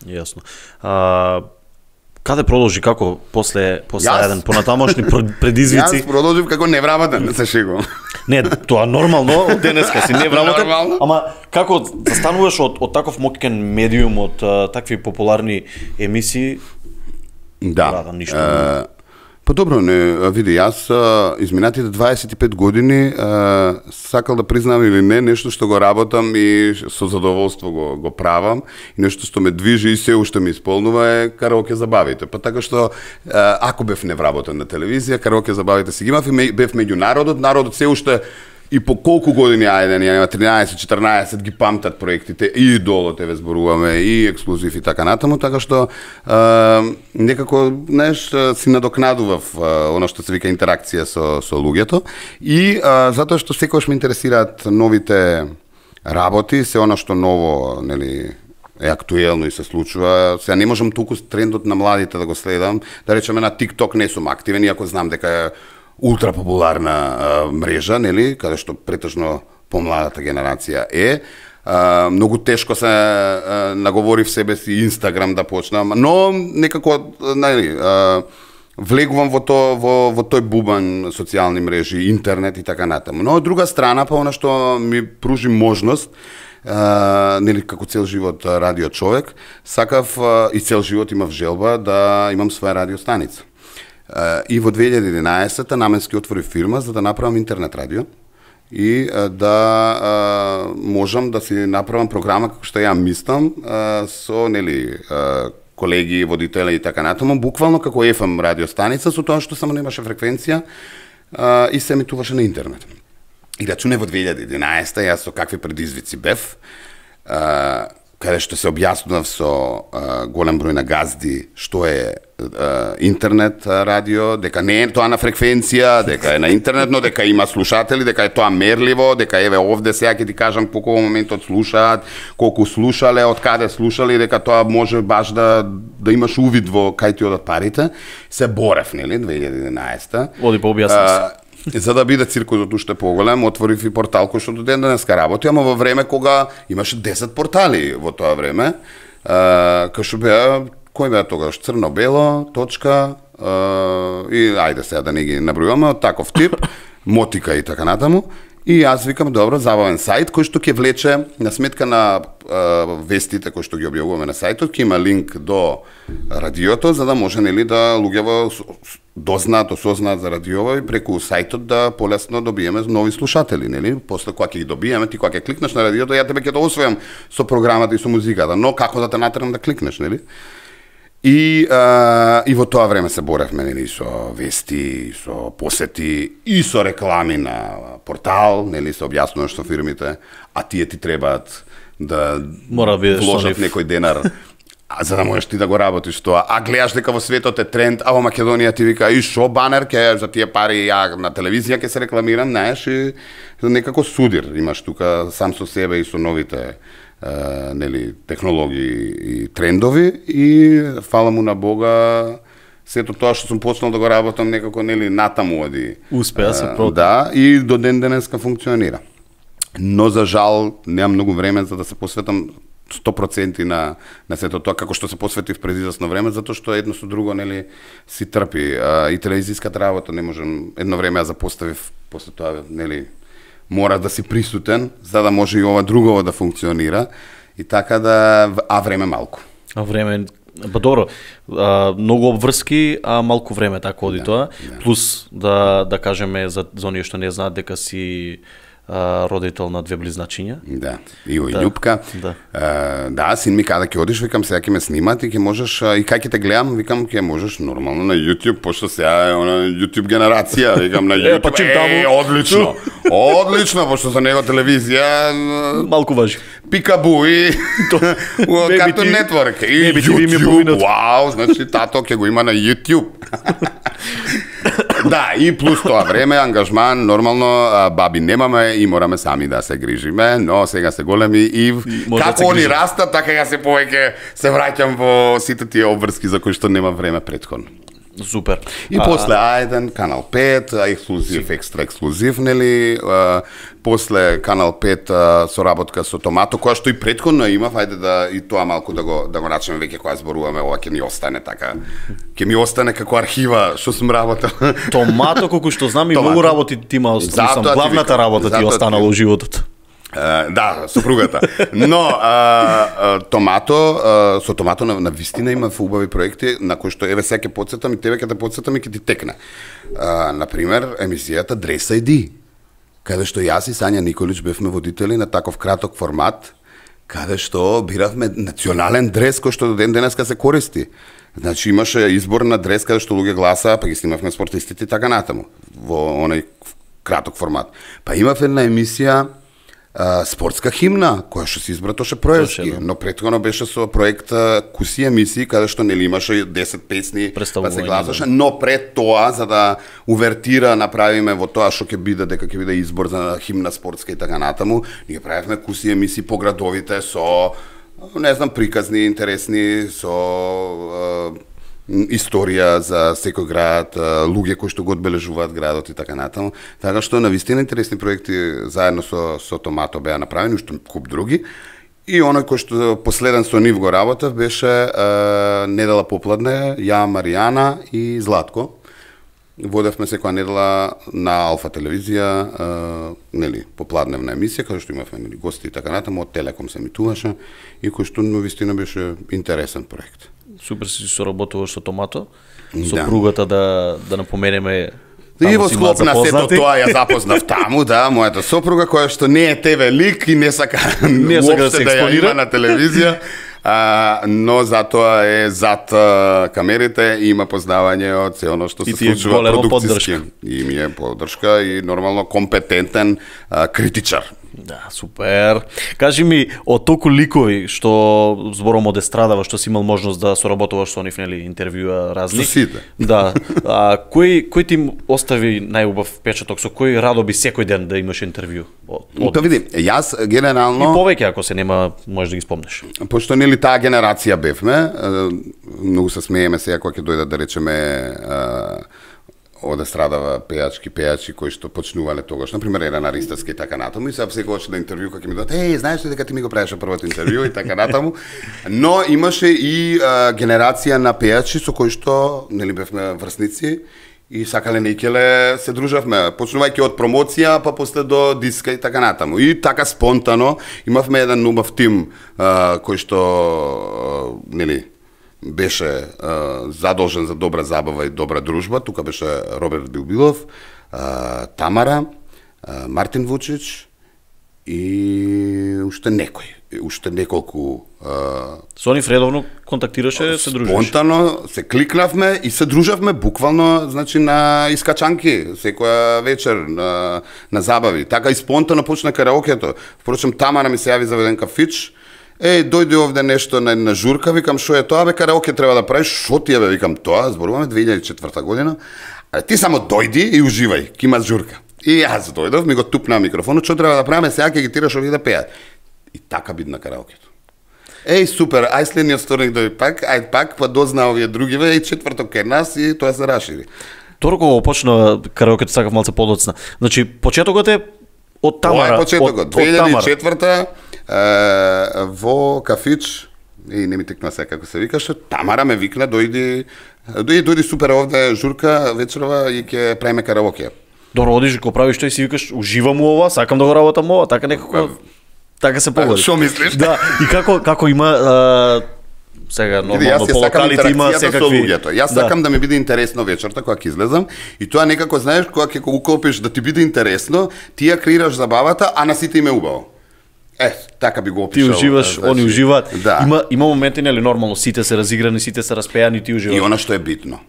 Јасно. Каде продолжи, како после еден понатамошни предизвици? Јас продолжив како невработен, се шегувам. Не, тоа нормално, денеска си невработен, ама како застануваш од таков моќен медиум, од такви популарни емисии? Да. Па добро, не, види, јас изминатите 25 години сакал да признам или не, нешто што го работам и со задоволство го правам и нешто што ме движи и се уште ме исполнува е караоке забавите. Па така што ако бев невработен на телевизија, караоке забавите си ги имав и бев меѓу народот се уште и по колку години Ајден, нема 13-14 ги памтат проектите и идолот еве зборуваме и ексклузив и така натаму, така што некако, знаеш, си надокнадував она што се вика интеракција со луѓето и затоа што секогаш ме интересираат новите работи, се она што ново, нели, е актуелно и се случува. Сега не можам туку трендот на младите да го следам. Да речеме на TikTok не сум активен, иако знам дека е ултра популарна мрежа, нели, каде што претежно помладата генерација е. Многу тешко се наговори в себе си Инстаграм да почнам, но некако, нели, влегувам во тој бубан социјални мрежи, интернет и така натаму. Но од друга страна, па она што ми пружи можност, нели, како цел живот радио човек, сакав и цел живот имав желба да имам своја радиостаница. И во 2011-та наменски отвори фирма за да направам интернет радио и да можам да си направам програма како што ја мислам со, нели, колеги, водители и така натаму, буквално како FM радиостаница, со тоа што само немаше фреквенција и се емитуваше на интернет. И рачуне во 2011-та, јас со какви предизвици бев, каде што се објаснував со голем број на газди што е интернет радио, дека не е тоа на фреквенција, дека е на интернет, но дека има слушатели, дека е тоа мерливо, дека еве овде сега ќе ти кажам колку во моментот слушаат, колку слушале, од каде слушали, дека тоа може баш да имаш увид во кај ти одат парите. Се борев, нели, 2011-та. Оди по објасни. За да биде циркусот уште поголем, отворив и портал кој што до ден денеска работи, ама во време кога имаше 10 портали во тоа време, кај што беа, кој беа тогаш, црно-бело, точка, и ајде сега да не ги набројуваме, од таков тип, мотика и така натаму. И јас викам, добро, забавен сајт кој што ќе влече на сметка на вестите кои што ги објавуваме на сајтот, ќе има линк до радиото за да може, нели, да луѓето дознаат, осознаат за радиово и преку сајтот да полесно добиеме нови слушатели, нели? После кога ќе ги добиеме, ти кога ќе кликнеш на радиото, ја тебе ќе те освојам со програмата и со музиката, но како да те натерам да кликнеш, нели? И во тоа време се боревме, нели, со вести, со посети и со реклами на портал, нели, се објаснуваш со фирмите, а тие ти требаат да вложат некој денар, за да можеш ти да го работиш тоа. А гледаш дека во светот е тренд, а во Македонија ти вика и шо банер ке за тие пари ја на телевизија ќе се рекламирам, знаеш, и некако судир имаш тука сам со себе и со новите нели, технологии и трендови и фала му на Бога сето тоа што сум почнал да го работам некако, нели, натаму оди. Успеа се да, и до ден денеска функционира. Но за жал немам многу време за да се посветам 100% на сето тоа, како што се посветив пред известно време, затоа што едно со друго, нели, си трпи. И телевизиската работа не можем, едно време ја запоставив, после тоа, нели, мора да си присутен, за да може и ова друго да функционира. И така да, а време малку. А време, па добро, многу обврски, а малку време, така оди тоа. Да. Плюс да кажеме за оние што не знаат дека си родител на две близначиња. Да, Ио и Љупка. Да, син ми каде ќе одиш, викам сега ќе ме снимат и ќе можеш, и кај ќе те гледам, викам ќе можеш нормално на YouTube, пошто сега е она YouTube генерација, викам на YouTube, одлично, одлично, пошто за него телевизија малку важи. Пикабу и Cartoon Network и YouTube, вау, значи тато ќе го има на YouTube. Да, и плюс тоа време, ангажман, нормално, баби немаме и мораме сами да се грижиме, но сега се големи и како они растат, така ја се повеќе се враќам во сите тие обврски за кои што нема време претходно. Супер. И после А1, Канал 5, ексклузив, екстра ексклузив, нели, после Канал 5 соработка со Томато, која што и претходно имав, ајде да и тоа малку да го рачеме веќе кога зборуваме, ова ќе ми остане така. Ќе ми остане како архива што сум работел. Томато, колку што знам, и многу работи ти има, главната работа ти останала во животот. Да, сопругата. Но Томато, со Томато на вистина има убави проекти на кои што еве сега ќе потсетам и тебе ќе те потсетам и ќе ти текне. На пример, емисијата Dress ID, каде што јас и Сања Николич бевме водители на таков краток формат, каде што биравме национален дрес кој што до ден денеска се користи. Значи имаше избор на дрес каде што луѓе гласа, па ги снимавме спортистите и така натаму во оној краток формат. Па имав една емисија спортска химна, која што се избра тоше проевски, но претходно беше со проект куси емисии, каде што нели имаше 10 песни, па се гласаше, но пред тоа, за да увертира направиме во тоа што ќе биде, дека ќе биде избор за химна спортска и така натаму, ние правевме куси емисии по градовите со не знам, приказни, интересни, со историја за секој град, луѓе кои што го одбележуваат градот и така натаму. Така што навистина интересни проекти заедно со Томато беа направени, уште куп други. И оној кој што последен со нив го работев беше недела попладне, ја, Маријана и Златко. Водевме секоја недела на Алфа телевизија, нели, попладневна емисија, каде што имавме нели гости и така натаму, од Телеком се емитуваше и кој што навистина беше интересен проект. Супер си соработуваш со Томато, сопругата да напоменеме. И во склоп на сето тоа ја запознав таму, да, мојата сопруга која што не е ТВ лик и не сака да се експонира на телевизија, но затоа е зад камерите и има познавање од се оно што се случува продукциски. И ми е поддршка и нормално компетентен критичар. Да, супер. Кажи ми, од толку ликови што збором од естрадава, што си имал можност да соработуваш со нив, нели, интервјуа разни. Со сите. Да. Кој ти остави најубав впечаток, со кој радо би секој ден да имаш интервју? Тоа види, јас генерално и повеќе ако се нема, можеш да ги спомнеш. Пошто нели таа генерација бевме, многу се смееме сега кога ќе дојдат да речеме од естрадава пејачки кои што почнувале тогаш, например Елена Ристевска и така натаму, и се секогаш на интервју кога ќе ми дадат, знаеш ли дека ти ми го правеше првото интервју и така натаму, но имаше и генерација на пејачи со кои што нели бевме врсници и сакале нејкеле се дружавме, почнувајќи од промоција, па после до диска и така натаму. И така спонтано имавме еден убав тим кој што нели беше задолжен за добра забава и добра дружба. Тука беше Роберт Билбилов, Тамара, Мартин Вучич и уште неколку. Со нив редовно контактираше, се дружеше? Спонтано се кликнавме и се дружавме буквално, значи на искачанки, секоја вечер на забави. Така и спонтано почна караокето. Впрочем, Тамара ми се јави за еден кафич. Дојде овде нешто на журка, викам, шо е тоа, караоке треба да правиш, шо ти е, викам, тоа, зборуваме 2004 година, ти само дојди и уживај, ки има журка. И јас дојдов, ми го тупна микрофонот, што треба да правиме, сега ќе ги тираш овие да пеат. И така биде на караокето. Супер, ај следниот вторник дојде пак, па дозна овие другиве, четврток е нас и тоа се рашири. Торо кога почна караокето, сакав малце подоцна. Значи, почетокот е од Тамара. Тоа е почетокот, 2004 во кафич, и не ми текнува сега како се викаше, Тамара ме викна, дојди супер овде журка вечерова и ќе правиме караоке. Добро, одиш го правиш тој и си викаш, уживам ова, сакам да го работам ова, така некако, така се погоди. Шо мислиш? Да, и како има сега нормално по локалите има секакви. Јас сакам да ми биде интересно вечерта кога ќе излезам и тоа некако знаеш кога ќе го уклопиш да ти биде интересно, ти ја креираш забавата, а на сите им е убаво. Така би го опишал. Ти уживаш, они уживаат. Да. Има моменти, нели, нормално, сите се разиграни, сите се распеани, ти уживаш. И она што е битно,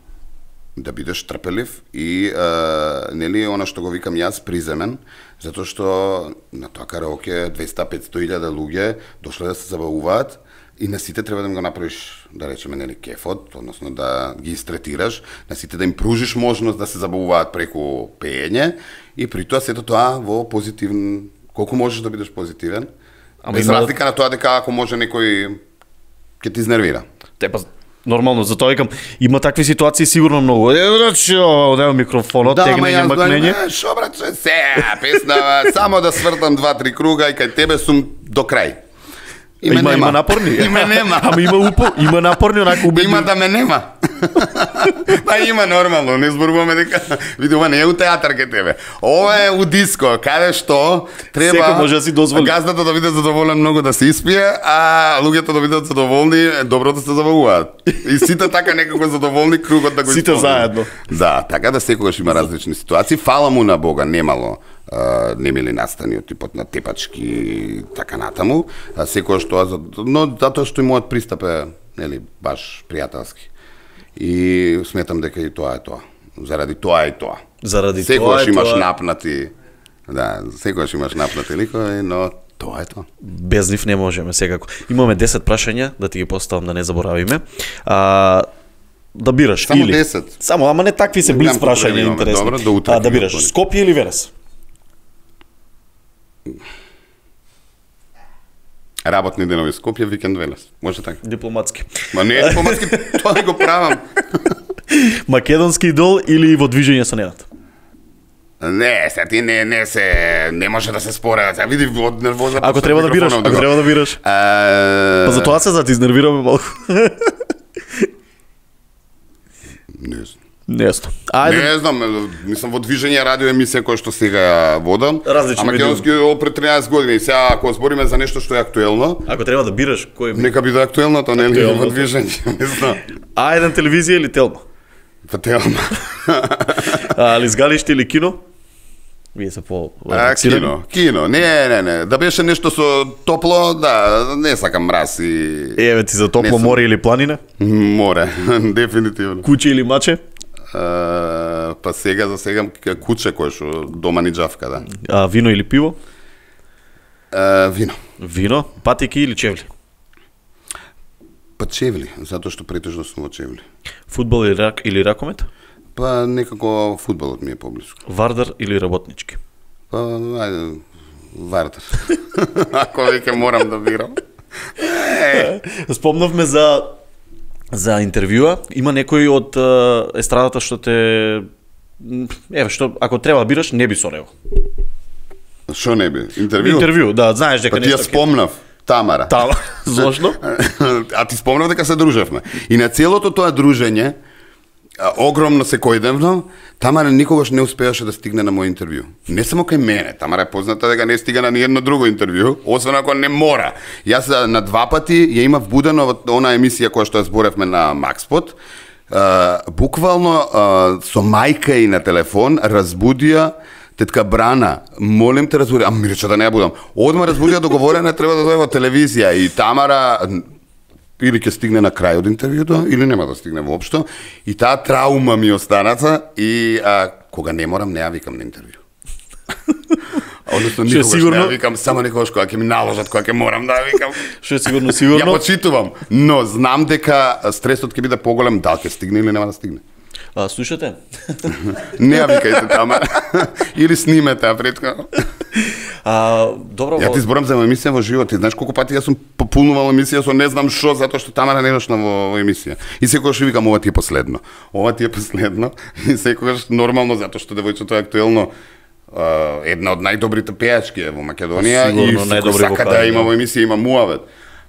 да бидеш трпелив и, нели, она што го викам јас, приземен, затоа што на тоа караоке 200-500 луѓе дошле да се забавуваат и на сите треба да им го направиш, да речеме, нели, кефот, односно да ги истретираш, на сите да им пружиш можност да се забавуваат преку пеење и при тоа сето тоа во позитивен. Колку можеш да бидеш позитивен, без разлика на тоа дека ако може некој ќе ти изнервира. Нормално, затоа викам, има такви ситуации сигурно многу. Одева микрофонот, тегнење, макнење. Шо братче, песна, само да свртам 2-3 круга и кај тебе сум до крај. Има напорни. Име нема. Ама има напорни, онака убедливи. Има да ме нема. Па има нормално, не зборуваме дека види ова не е у театар ке тебе. Ова е у диско, каде што треба секој може да си дозволи. Газдата да биде задоволен многу да се испие, а луѓето да бидат задоволни, добро да се забавуваат. И сите така некако задоволни, кругот да го сите исполни. заедно. Да, така да секогаш има различни ситуации. Фала му на Бога, немало немили настани од типот на тепачки и така натаму. Секогаш тоа, но затоа што и мојот пристап е, нели, баш пријателски. И сметам дека и тоа е тоа. Заради тоа е тоа. Заради секогаш тоа имаш тоа. напнати. Да, секогаш имаш напнати ликови, но тоа е тоа. Без нив не можеме секако. Имаме 10 прашања да ти ги поставам да не заборавиме. Да бираш Само или 10. Само, ама не такви се блиц прашања интересни. Добро, до утре. Да бираш Скопје или Верес? Работни денови Скопје, викенд Велес. Може така? Дипломатски. Ма не е дипломатски, тоа не го правам. Македонски идол или во движење со Ненад? Не, се ти не може да се спора. Се види од нервоза. Ако треба да бираш, Па за тоа се ти изнервираме малку. Не знам. Не знам, мислам во движење радио емисија која што сега водам. Различни македонски пред 13 години. Сега ако збориме за нешто што е актуелно, ако треба да бираш кој нека биде актуелно, тоа нели во движење, не знам. Еден телевизија или Телма? Па Телма. Али згалиште или кино? Вие се по кино. Не. Да беше нешто со топло, да, не сакам мраз и еве ти за топло море или планина? Море, дефинитивно. Куќе или маче? Па сега куче кое што дома ни џавка, да. Вино или пиво? Вино. Вино, патики или чевли? Па чевли, затоа што претежно сум во чевли. Фудбал или ракомет? Па некако фудбалот ми е поблиску. Вардар или работнички? Па ајде, Вардар. Ако веќе морам да бирам. Спомнавме за интервјуа. Има некој од естрадата што те што ако треба да бираш, не би со него. Што не би? Интервју, да, знаеш дека нешто. Па ти ја спомнав. Тамара. Зошто? А ти спомнав дека се дружевме. И на целото тоа дружење, огромно секојдневно, Тамара никогаш не успеаше да стигне на мој интервју. Не само кај мене, Тамара е позната дека не стига на ниедно друго интервју, освен ако не мора. Јас на 2 пати ја имав будено во она емисија која што ја зборевме на Макспот. Буквално со мајка и на телефон разбудија тетка Брана, молим те разбуди, ми рече да не ја будам. Одма разбудија договорена, треба да дојде во телевизија и Тамара или ќе стигне на крај од интервјуто, или нема да стигне воопшто. И таа траума ми останаца и кога не морам, не ја викам на интервју. Односно, никогаш не ја викам, само некогаш кога ќе ми наложат, кога ќе морам да ја викам. Што е сигурно. Ја почитувам, но знам дека стресот ќе биде поголем, дали ќе стигне или нема да стигне. Слушате? Не ја викајте Тамара. Или снимете претходно. Добро. Ја ти зборам за емисија во живот. Ти знаеш колку пати јас сум пополнувал емисија со не знам што, затоа што Тамара не дошла во емисија. И секогаш викам ова ти е последно. Ова ти е последно. И секогаш нормално затоа што девојчето е актуелно една од најдобрите пејачки во Македонија и сака да има во емисија, има муавет.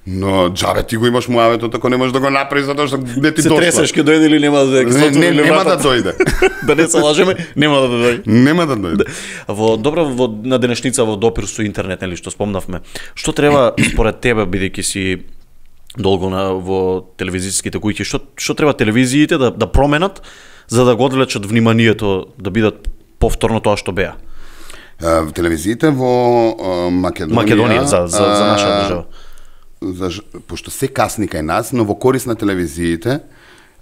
Но џабе ти го имаш муаветот, ако не можеш да го направиш затоа што не ти дошла. Се тресеш ќе дојде или нема да дојде? Нема да дојде. Да не се лажеме, нема да дојде. Нема да дојде. На денешница во допир со интернет, нели што спомнавме. Што треба според тебе, бидејќи си долго во телевизиските куќи, што треба телевизиите да променат за да го одвлечат вниманието да бидат повторно тоа што беа? Телевизиите во Македонија за наша држава. Пошто се касни кај нас, но во корис на телевизиите,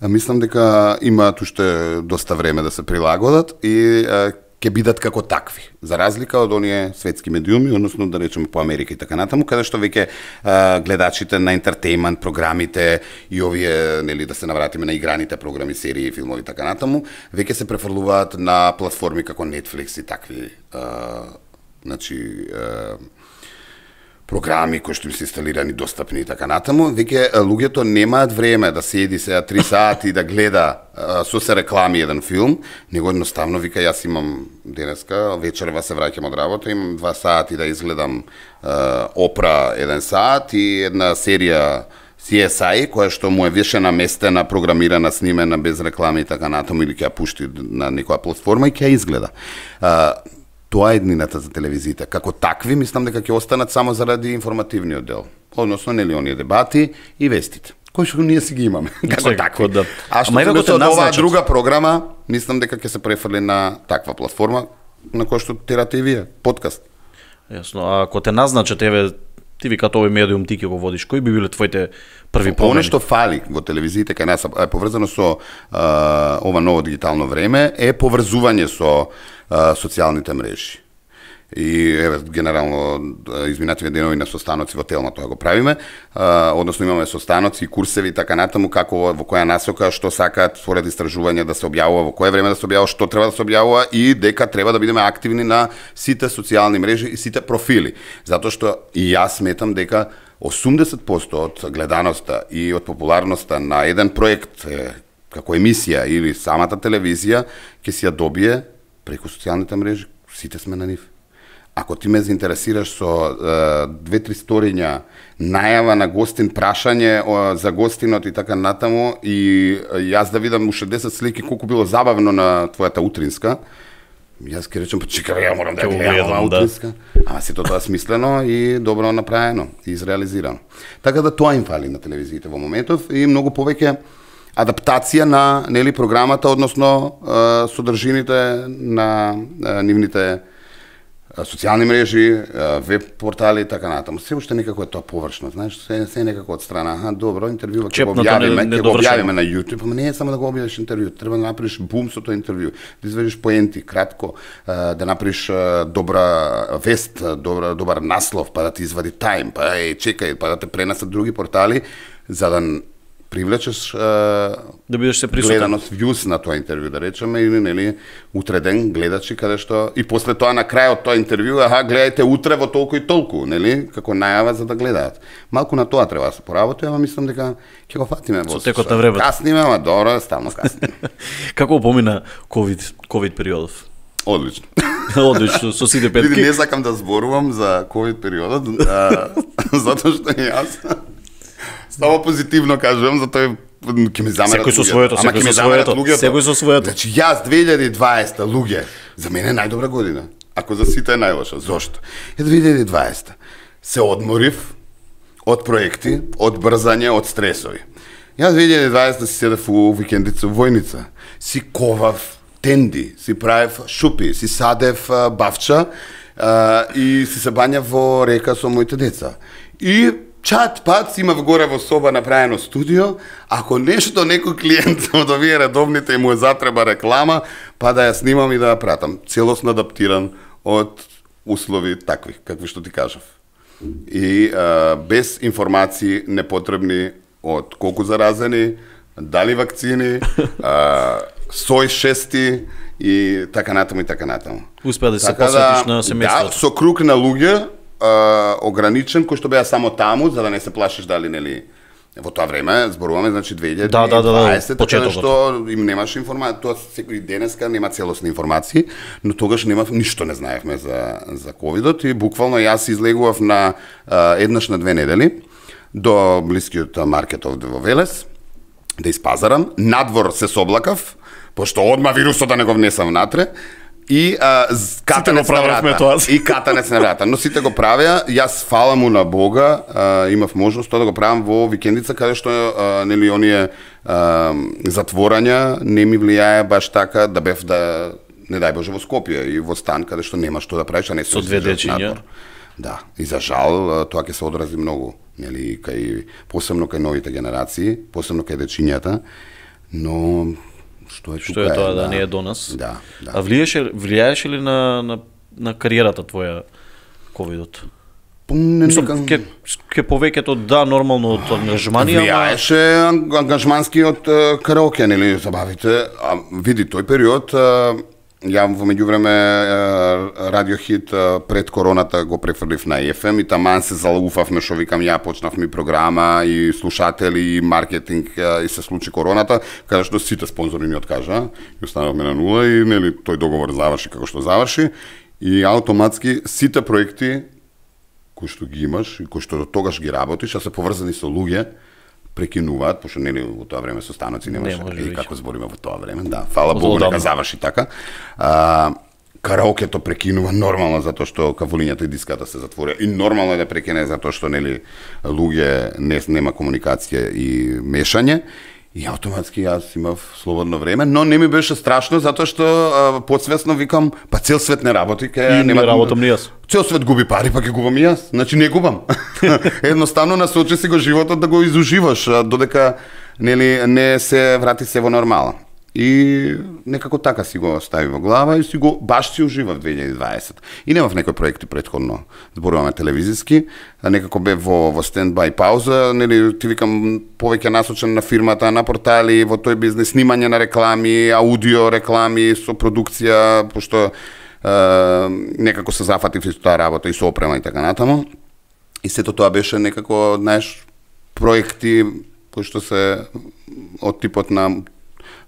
мислам дека имаат уште доста време да се прилагодат и ќе бидат како такви. За разлика од оние светски медиуми, односно да речеме по Америка и така натаму, каде што веќе гледачите на ентертејмент програмите и овие, нели, да се навратиме на играните програми, серии, филмови и така натаму, веќе се префрлуваат на платформи како Netflix и такви, програми кои што им се инсталирани, достапни и така натаму, веќе луѓето немаат време да седи сега 3 сати да гледа со се реклами еден филм, него едноставно вика јас имам денеска, вечерва се враќам од работа, имам 2 сати да изгледам Опра 1 сат и една серија CSI, која што му е више наместена, програмирана, снимена без реклами и така натаму, или ќе ја пушти на некоја платформа и ќе ја изгледа. Тоа е еднината за телевизиите. Како такви, мислам дека ќе останат само заради информативниот дел. Односно, нели, оние дебати и вестите, кои што ние си ги имаме. Како такви. Да. А што се од оваа друга програма, мислам дека ќе се префрли на таква платформа, на која што терате и вие, подкаст. Јасно, а ако те назначат, еве, ти ви като овој медиум ти ќе го водиш, кои би биле твоите први промени? Оно што фали во телевизиите кај нас е поврзано со ова ново дигитално време, е поврзување со социјалните мрежи. И еве генерално изминативе денови на состаноци во Телма тоа го правиме, односно имаме состаноци, курсеви и така натаму како во која насока што сакаат според истражување да се објавува, во кое време да се објавува, што треба да се објавува и дека треба да бидеме активни на сите социјални мрежи и сите профили. Затоа што и јас сметам дека 80% од гледаноста и од популарноста на еден проект како емисија или самата телевизија ќе си ја добие преку социјалните мрежи, сите сме на нив. Ако ти ме заинтересираш со 2-3 сториња, најава на гостин, прашање за гостинот и така натаму, и јас да видам уште 10 слики колку било забавно на твојата утринска, јас ќе речем, чекај, ја морам да гледам утринска. Ама сето тоа смислено и добро направено и изреализирано. Така да тоа им фали на телевизиите во моментов и многу повеќе адаптација на програмата, односно содржините на нивните социјални мрежи, веб портали и така натаму. Се уште некако е тоа површно, знаеш, се некако од страна, добро, интервјува ќе го објавиме на YouTube, ама не е само да го објавиш интервју, треба да направиш бум со тоа интервју, да извадиш поенти, кратко, да направиш добра вест, добар наслов, па да ти извади тајм, па чекај, па да те пренесат други портали, за да привлечеш да бидеш се присутен, гледаност, вјус на тоа интервју, да речеме, или утре ден гледачи каде што и после тоа на крајот тоа интервју, гледајте утре во толку и толку, како најава за да гледаат. Малку на тоа треба да се поработи, ама мислам дека ќе го фатиме во текот на времето. Касниме, ама добро, ставно касниме. Како помина ковид периодов? Одлично. Одлично, со сите петки. Види, не сакам да зборувам за ковид периодот, затоа што јас само позитивно кажувам, затоа ќе ми замерат луѓето. Секој со своето. Значи, јас 2020 луѓе, за мене е најдобра година. Ако за сите е најлоша. Зошто? 2020 се одморив од проекти, од брзање, од стресови. Јас 2020 си седев у викендица во Војница, си ковав тенди, си правев шупи, си садев бавча и си се бањав во река со моите деца. И чат-пат си имав горе во соба направено студио, ако нешто некој клиент од овие редовните и му е затреба реклама, па да ја снимам и да ја пратам. Целосно адаптиран од услови такви, какви што ти кажав. И без информации непотребни од колку заразени, дали вакцини, сој 6 и така натаму и така натаму. Успеа да се посветиш на семејството. Да, со круг на луѓе, ограничен, кој што беа само таму, за да не се плашиш дали, во тоа време, зборуваме, значи 2020, така што им немаш информација, тоа секој денеска нема целосни информации, но тогаш ништо не знаевме за ковидот и буквално јас излегував на еднаш на 2 недели до блискиот маркет овде во Велес, да испазарам, надвор се соблакав, пошто одма вирусот да не го внесам внатре, и катанец на врата. И катанец на врата. Но сите го правеа, јас фала му на Бога, имав можност тоа да го правам во викендица, каде што оние затворања не ми влијае баш така да бев не дај Боже во Скопје и во стан каде што нема што да правиш, а не со 2 дечиња. Да, и за жал тоа ќе се одрази многу, посебно кај новите генерации, посебно кај дечињата, но што е тоа да не е до нас. Да. А влијаеше ли на кариерата твоја ковидот? Ке повеќето нормално од ангажмани, влијаеше ангажмански од караоке, забавите. Види, тој период ја во меѓувреме Радиохит пред короната го префрлив на FM и таман се залуфавме, што викам, ја почнавме програма и слушатели и маркетинг и се случи короната, каде што сите спонзори ни откажа и останавме на нула и тој договор заврши како што заврши и автоматски сите проекти кои што ги имаш и кои што до тогаш ги работиш, а се поврзани со луѓе, прекинуваат, пошто во тоа време со станоци немаше и како збориме во тоа време, да, фала Богу нека заврши така. Караокето прекинува нормално затоа што кавулињата и диската се затворија и нормално е да прекине затоа што луѓе нема комуникација и мешање. И автоматски јас имав слободно време, но не ми беше страшно затоа што подсвесно викам, па цел свет не работи, не работам ни јас. Цел свет губи пари, па ќе губам и јас. Значи не губам. Едноставно насочи си го животот да го изуживаш додека не се врати се во нормала. И некако така си го стави во глава и баш си ужива в 2020. И немав некои проекти претходно, зборуваме телевизиски, некако бе во стендбај пауза, ти викам повеќе насочен на фирмата, на портали, во тој бизнес, снимање на реклами, аудио реклами со продукција, пошто некако се зафатив и со таа работа и со опрема и така натаму. И сето тоа беше некако, знаеш, проекти кои што се од типот на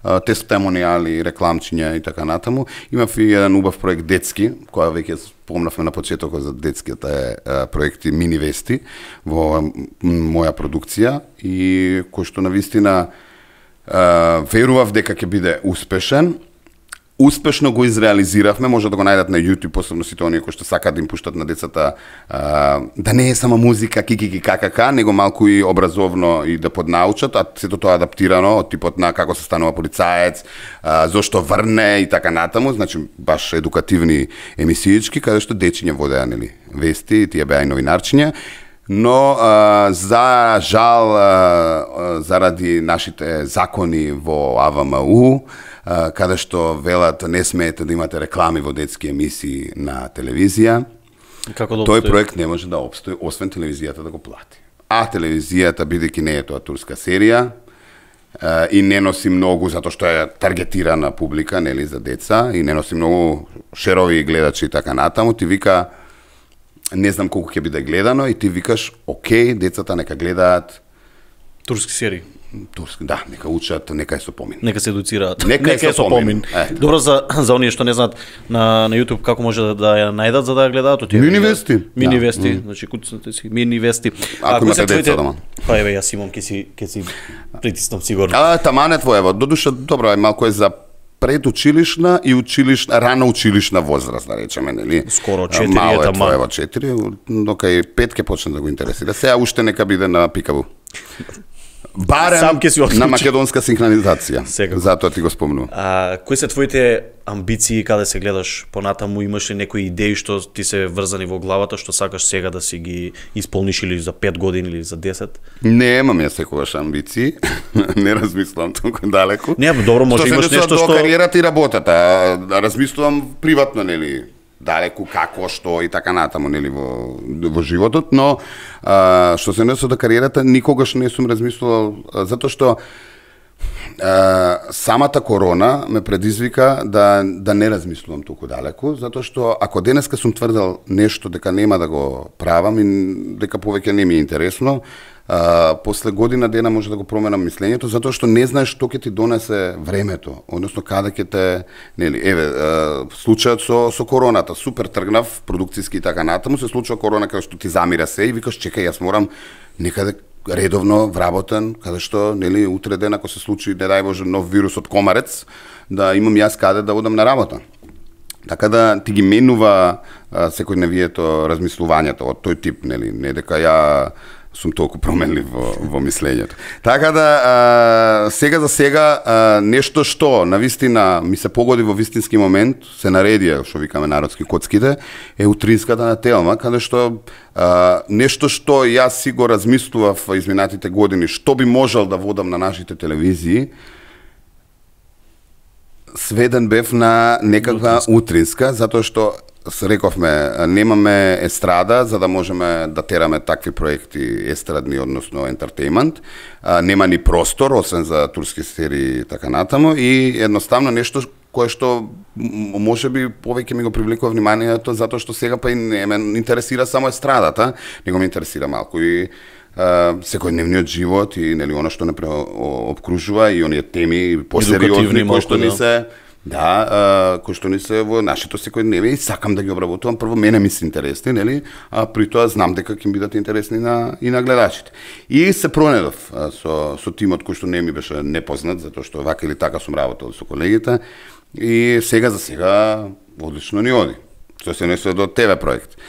тестимонијали, рекламчиња и така натаму. Имав и еден убав проект детски, која веќе спомнавме на почетокот за детските проекти Мини Вести во моја продукција и кој што навистина верував дека ќе биде успешен. Успешно го изреализиравме, може да го најдат на YouTube, посебно сите оние кои што сакаат да им пуштат на децата да не е само музика, кики какака, него малку и образовно и да поднаучат, а сето тоа адаптирано од типот на како се станува полицаец, зошто врне и така натаму, значи баш едукативни емисиички, каде што дечиња водеа, нели, вести, тие беа и новинарчиња. Но за жал заради нашите закони во АВМУ, каде што велат не смеете да имате реклами во детски емисии на телевизија, тој проект не може да обстои освен телевизијата да го плати. А телевизијата, бидејќи не е тоа турска серија и не носи многу затоа што е таргетирана публика, нели, за деца и не носи многу шерови гледачи и така натаму, ти вика не знам колку ќе биде гледано и ти викаш, окей, децата нека гледаат турски серии. Турски, да, нека учат, нека е со помин. Нека се едуцираат. Нека е со помин. Добро за оние што не знаат на YouTube како може да ја најдат за да ја гледаат од Мини Вести. Мини Вести, значи куцнете си Мини Вести. Ако имате деца дома. Па еве јас имам ќе си притиснам сигурно. Таман е твоево. Додуша добро е малку е за предучилишна и училишна, рано училишна возраст, да речеме, нели? Скоро 4 мало е таман. Твоево 4, дока и 5 ќе почне да го интересира. Сега уште нека биде на пикаву. Барем на македонска синхронизација. Затоа ти го спомнувам. Кои се твоите амбиции каде се гледаш понатаму? Имаш ли некои идеи што ти се врзани во главата, што сакаш сега да си ги исполниш или за 5 години или за 10? Немам ја секогаш амбиции. Не размислувам толку далеко. Не, добро, може имаш нешто што кариерата и работата. Размислувам приватно, нели? Далеку како, што и така натаму, нели, во животот, но што се однесува до кариерата, никогаш не сум размислувал, затоа што самата корона ме предизвика да не размислувам толку далеку, затоа што ако денеска сум тврдел нешто дека нема да го правам и дека повеќе не ми е интересно, после година дена може да го променам мислењето, затоа што не знаеш што ќе ти донесе времето, односно каде ќе те, нели, еве, случајот со короната, супер тргнав продукциски и така натаму, се случува корона каде што ти замира се и викаш чекај, јас морам некаде редовно вработен, каде што, нели, утре ден ако се случи, не дај Боже, нов вирус од комарец, да имам јас каде да одам на работа. Така да ти ги менува секојдневието размислувањето од тој тип, нели, не дека ја сум толку променлив во мислењето. Така да, сега за сега, нешто што навистина ми се погоди во вистински момент, се наредија, што викаме народски коцките, е утринската на Телма, каде што нешто што јас си го размислував изминатите години, што би можел да водам на нашите телевизии, сведен бев на некаква утринска, затоа што рековме, немаме естрада за да можеме да тераме такви проекти естрадни, односно ентертејмент. Нема ни простор, освен за турски серии и така натаму, и едноставно нешто кое што може би повеќе ми го привлекува вниманието, затоа што сега па и не ме интересира само естрадата, него ме интересира малку и секојдневниот живот и, нели, она што не обкружува и оние теми посериозни кои што ни се кои што ни се во нашето секојдневие и сакам да ги обработувам. Прво мене ми се интересни, нели, а при тоа знам дека ќе бидат интересни и на гледачите. И се пронедов со тимот кој што не ми беше непознат, затоа што вака или така сум работел со колегите и сега за сега одлично ни оди. Што се однесува до ТВ проект.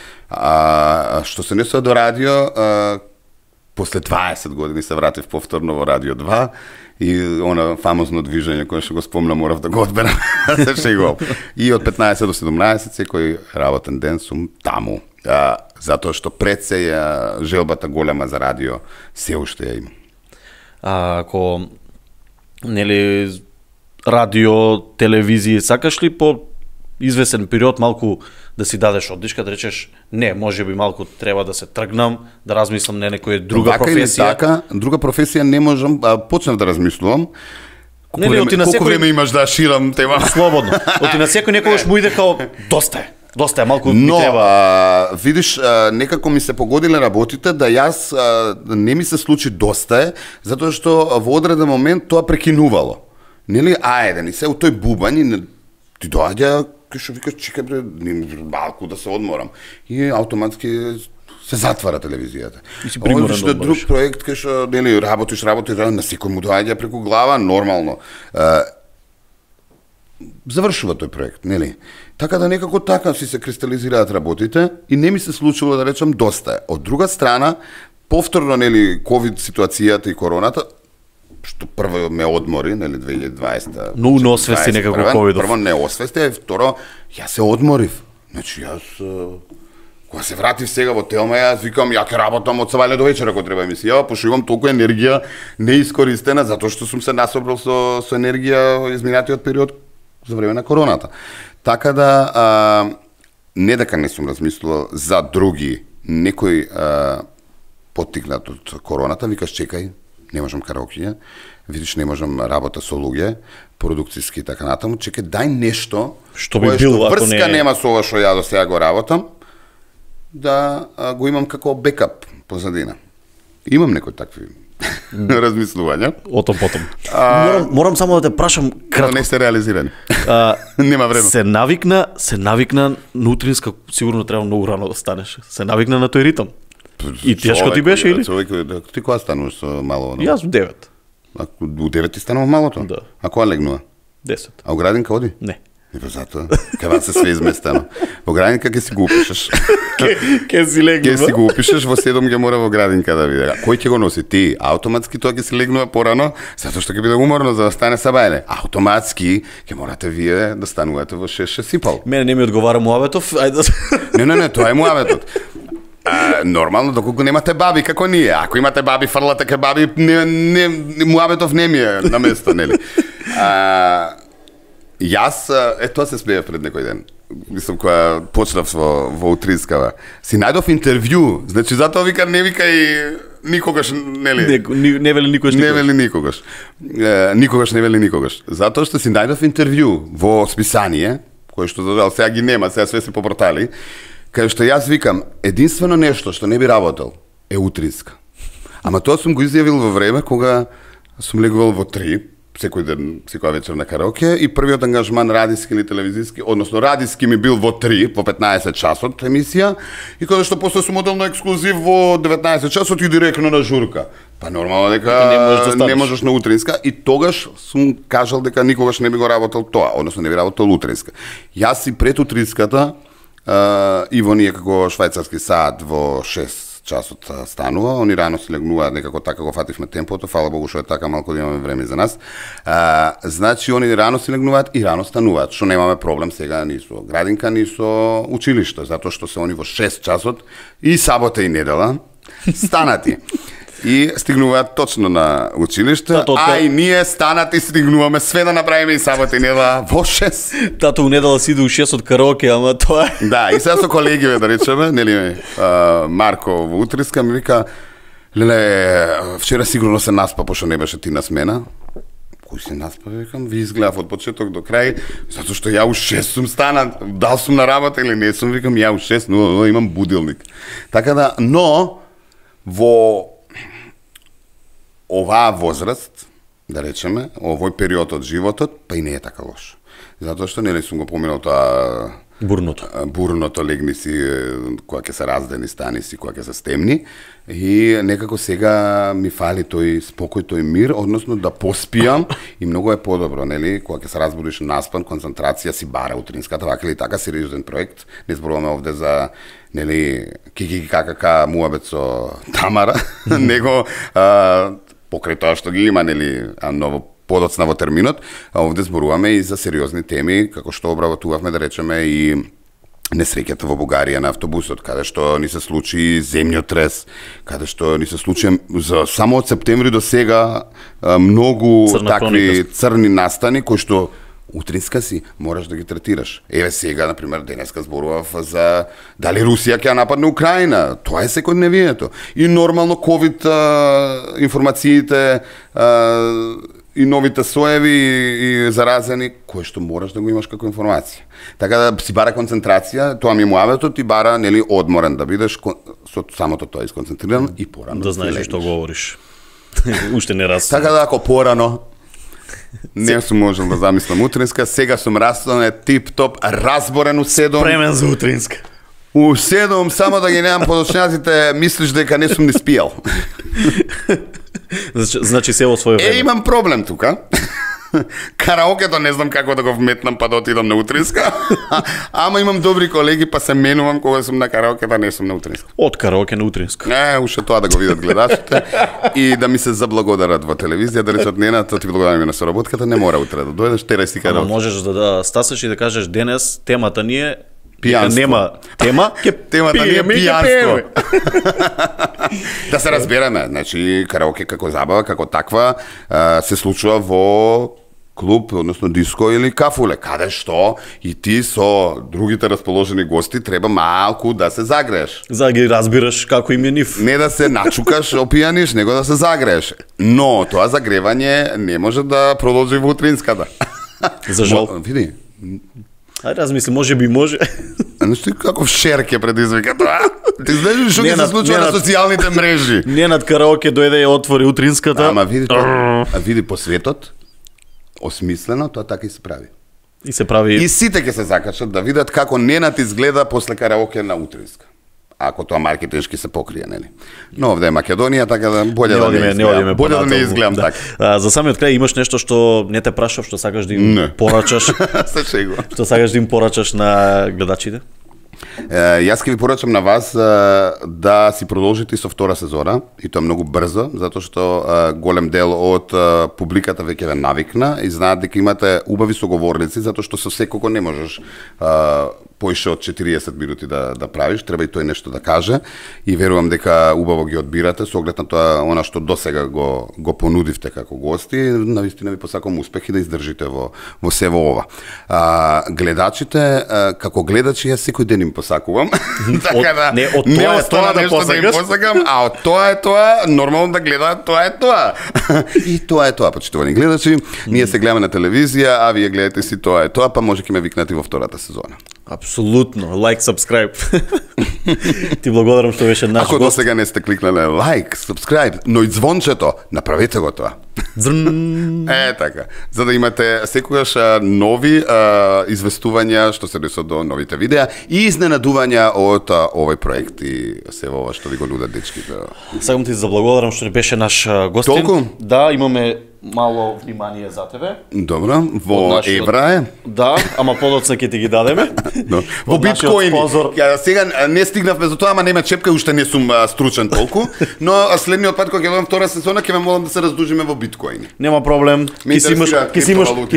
Што се однесува до радио, после 20 години се вратив повторно во Радио 2 и она фамозно движење кое што го спомнам, морав да го одберам, се шегувам. И од 15 до 17 секој работен ден сум таму, затоа што пред се ја желбата голема за радио се уште ја имам. Ако, нели, радио, телевизија, сакаш ли по извесен период малку да си дадеш оддишка, да речеш не, може би малку треба да се тргнам, да размислам на некоја друга професија. Така, друга професија не можам, почнав да размислувам. Колку време имаш да ширам тема? Слободно. Оти на секој некогаш му иде као доста е. Доста е, малку ми Но, треба. видиш, некако ми се погодиле работите да јас не ми се случи доста е, затоа што во одреден момент тоа прекинувало. Нели, ајде, ни се у тој бубањ и ти доаѓа, кај што викаш, чекај бре, малку да се одморам. И автоматски се затвара телевизијата. И си приморен Одиш да на одмориш. друг проект кај што нели работиш, на секој му доаѓа преку глава, нормално. Завршува тој проект, нели? Така да некако така си се кристализираат работите и не ми се случило да речам доста е. Од друга страна, повторно нели ковид ситуацијата и короната, што прво ме одмори, нели 2020. Но не освести некако ковидов. Прво не освести, а второ јас се одморив. Значи јас кога се вратив сега во Телма, јас викам ја ќе работам од сабајле до вечера кога треба емисија, пошто имам толку енергија неискористена затоа што сум се насобрал со енергија изминатиот период за време на короната. Така да не дека не сум размислувал за други, некој поттикнат од короната, викаш чекај, не можам караокење, видиш не можам работа со луѓе, продукциски и така натаму, чекај дај нешто Што би било ако врска не нема со ова што ја до сега го работам, да го имам како бекап позадина. Имам некои такви размислувања. Отом потом. Морам само да те прашам Но кратко. не се реализирани. Нема време. Се навикна на утринска, сигурно треба многу рано да станеш. Се навикна на тој ритам. И тешко ти беше или? Ти кога стануваш со мало? Јас во 9. У 9 ти станува малото? Да. А кога легнува? 10. А у градинка оди? Не. И па затоа, кај вас се све изместено. Во градинка ќе си го упишеш. Ке си легнува. Ќе си го упишеш, во 7 ќе мора во градинка да биде. Кој ќе го носи? Ти. Автоматски тоа ќе си легнува порано, затоа што ќе биде уморно за да стане сабајле. Автоматски ќе морате вие да станувате во 6 сипал. Мене не ми одговара муабетов. Ајде. Не, тоа е муабетот. Нормално, доколку немате баби како ние. Ако имате баби, фрлате ке баби, муабетов не ми е на место, нели? Јас, тоа се смеја пред некој ден. Мислам, кога почнав во Утринскава. Си најдов интервју, значи затоа вика, не вика и никогаш, нели? Не вели никогаш. Не вели никогаш. Никогаш не вели никогаш. Затоа што си најдов интервју во списание, кој што задал сега ги нема, сега све се по портали, кај што јас викам, единствено нешто што не би работел е Утринска. Ама тоа сум го изјавил во време кога сум легувал во 3, секој ден, секоја вечер на караоке, и првиот ангажман радиски или телевизиски, односно радиски ми бил во 3, во 15 часот емисија, и кога што после сум одел на ексклузив во 19 часот и директно на журка. Па нормално дека не можеш на Утринска, и тогаш сум кажал дека никогаш не би го работел тоа, односно не би работел Утринска. Јас и пред Утринската, Иво ние како швајцарски саат во 6 часот станува, они рано се легнуваат, некако така го фативме темпото, фала Богу што е така, малку да имаме време за нас. Значи, они рано се легнуваат и рано стануваат, што немаме проблем сега ни со градинка, ни со училиште, затоа што се они во 6 часот и сабота и недела станати. И стигнуваат точно на училиште, а и ние станати и стигнуваме све да направиме и сабота и недела во 6. Тато у недела си иде у 6 од караоке, ама тоа е. Да, и сега со колегиве, да речеме, нели, Марко во Утринска ми вика, леле, вчера сигурно се наспа, пошто не беше ти на смена. Кој се наспа, викам, ви изгледав од почеток до крај, затоа што ја у 6 сум станат, дал сум на работа или не сум, викам, ја у 6, но имам будилник. Така да, но, во оваа возраст, да речеме, овој период од животот, па и не е така лош. Затоа што нели сум го поминал тоа бурното легни си, кога ќе се раздени, стани си, кога ќе се стемни, и некако сега ми фали тој спокој, тој мир, односно да поспијам, и многу е подобро, нели, кога ќе се разбудиш наспан, концентрација си бара Утринската, вака или така сериозен проект, не зборуваме овде за, нели, ККК муабет со Тамара, него покрај тоа што ги има, нели, ново подоцна во терминот, а овде зборуваме и за сериозни теми, како што обработувавме, да речеме, и несреќата во Бугарија на автобусот, каде што ни се случи земјотрес, каде што ни се случи само од септември до сега многу такви црни настани кои што Утринска си мораш да ги третираш. Еве сега, например, денеска зборував за дали Русија ќе нападне Украина. Тоа е секојдневието. И нормално ковид информациите и новите соеви и заразени, кој што мораш да го имаш како информација. Така да си бара концентрација, тоа ми муаветот ти бара нели одморен да бидеш со самото тоа исконцентриран и порано. Да знаеш што говориш. Уште не раз. Така да ако порано не сум можел да замислам утринска, сега сум растан тип-топ, разборен у 7. Премен за утринска. У 7, само да ги немам подочњаците, мислиш дека не сум ни спијал. Значи се во своје време. Имам проблем тука. Караокето не знам како да го вметнам па да отидам на утринска. Ама имам добри колеги па се менувам кога сум на караокето, не сум на утринска. Од караоке на утринска. Уште тоа да го видат гледачите и да ми се заблагодарат во телевизија, да речат Нена, тоа ти благодарам на соработката, не мора утре да дојдеш, терај си караоке. Можеш да стасаш и да кажеш денес темата ни е пијанство. Нема тема, темата ни е пијанство. Да се разбереме, значи караоке како забава, како таква, се случува во клуб, односно диско или кафуле, каде што и ти со другите расположени гости треба малку да се загрееш. За да ги разбираш како им е нив. Не да се начукаш, опијаниш, него да се загрееш. Но тоа загревање не може да продолжи во утринската. За жал. Види. Ајде размисли, може би може. Значи како шер ќе предизвика тоа. Ти знаеш што ќе се случува на социјалните мрежи. Ненад караоке дојде и отвори утринската. Ама види тоа. Види по светот осмислено тоа така и се прави. И се прави. И сите ќе се закачат да видат како Ненад изгледа после караоке на утринска. Ако тоа маркетиншки се покрие, нели? Но овде е Македонија, така да боле да не изгледам. Боле да не изгледам така. За самиот крај имаш нешто што не те прашав, што сакаш да им порачаш? Се шегувам. Што сакаш да им порачаш на гледачите? Јас ќе ви порачам на вас да си продолжите со втора сезона, и тоа многу брзо, затоа што голем дел од публиката веќе ве навикна и знаат дека имате убави соговорници, затоа што со секого не можеш поише од 40 минути да правиш, треба и тој нешто да каже и верувам дека убаво ги одбирате со оглед на тоа она што досега го понудивте како гости, навистина ви посакувам успех и да издржите во се во ова. Гледачите како гледачи јас секој ден им посакувам. Така да не од тоа да посакам, а од тоа е тоа, нормално да гледаат, тоа е тоа. И тоа е тоа, почитувани гледачи. Ние се гледаме на телевизија, а вие гледате си тоа е тоа, па може ќе ме викнати во втората сезона. Апсолутно. Лайк, сабскрајб. Ти благодарам што беше наш гост. Ако досега не сте кликнале лайк, сабскрајб, но и звончето, направете го тоа. Така. За да имате секогаш нови известувања што се десува до новите видеа и изненадувања од овој проект и се ова што ви го нудат дечките. Сакам ти заблагодарам што беше наш гостин. Толку? Да, имаме мало внимание за тебе. Добро, во евра е. Да, ама подоцна ќе ти ги дадеме. Во биткоини. Сега не стигнавме за тоа, ама нема чепка, уште не сум стручен толку, но следниот пат кога ќе дојдам втора сезона ќе ме молам да се раздужиме во биткоини. Нема проблем. Ќе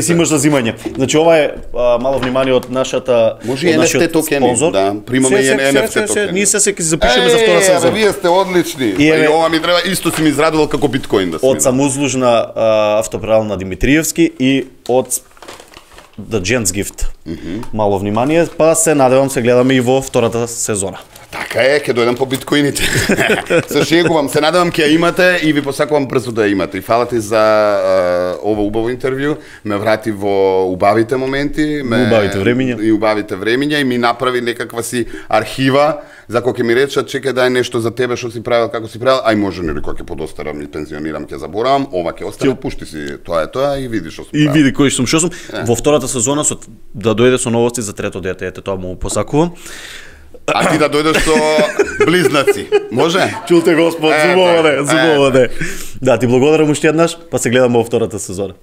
си имаш за зимање. Значи ова е мало внимание од нашата може и NFT токени, да, примаме и NFT токени. Ние се ќе се запишеме за втора сезона. Вие сте одлични. И ова ми треба исто си ми израдувал како биткоин да од самоузлужна автоперална Димитриевски и од The Gents Gift. Мало внимание, па се надевам се гледаме и во втората сезона. Така е, ќе дојдам по биткоините. Се шегувам, се надевам ќе ја имате и ви посакувам брзо да ја имате. И фала ти за ова убаво интервју, ме врати во убавите моменти, убавите времиња и ми направи некаква си архива за кога ќе ми речат чекај дај нешто за тебе што си правил, како си правил, ај може нели кога ќе подостарам и пензионирам ќе заборавам, ова ќе остане, пушти си тоа е тоа и види што сум правил. И види кој сум, што сум. Во втората сезона да дојде со новости за трето дете, ете тоа му посакувам. А ти да дојдеш со близнаци. Може? Чулте Господ, зубоваде. Да, ти благодарам уште еднаш, па се гледаме во втората сезона.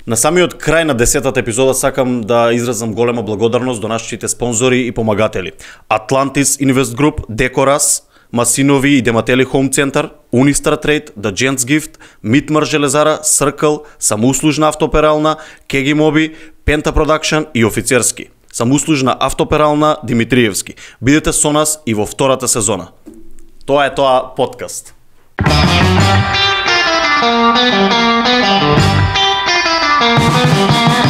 На самиот крај на 10-та епизода сакам да изразам голема благодарност до нашите спонзори и помагатели. Atlantis Invest Group, Decoras, Масинови и Дематели Home Center, Unistar Trade, The Gents Gift, Митмар Железара, Circle, самоуслужна автоперална, Кеги Моби, Penta Production и Офицерски. Самоуслужна автоперална Димитриевски. Бидете со нас и во втората сезона. Тоа е тоа подкаст. Thank you.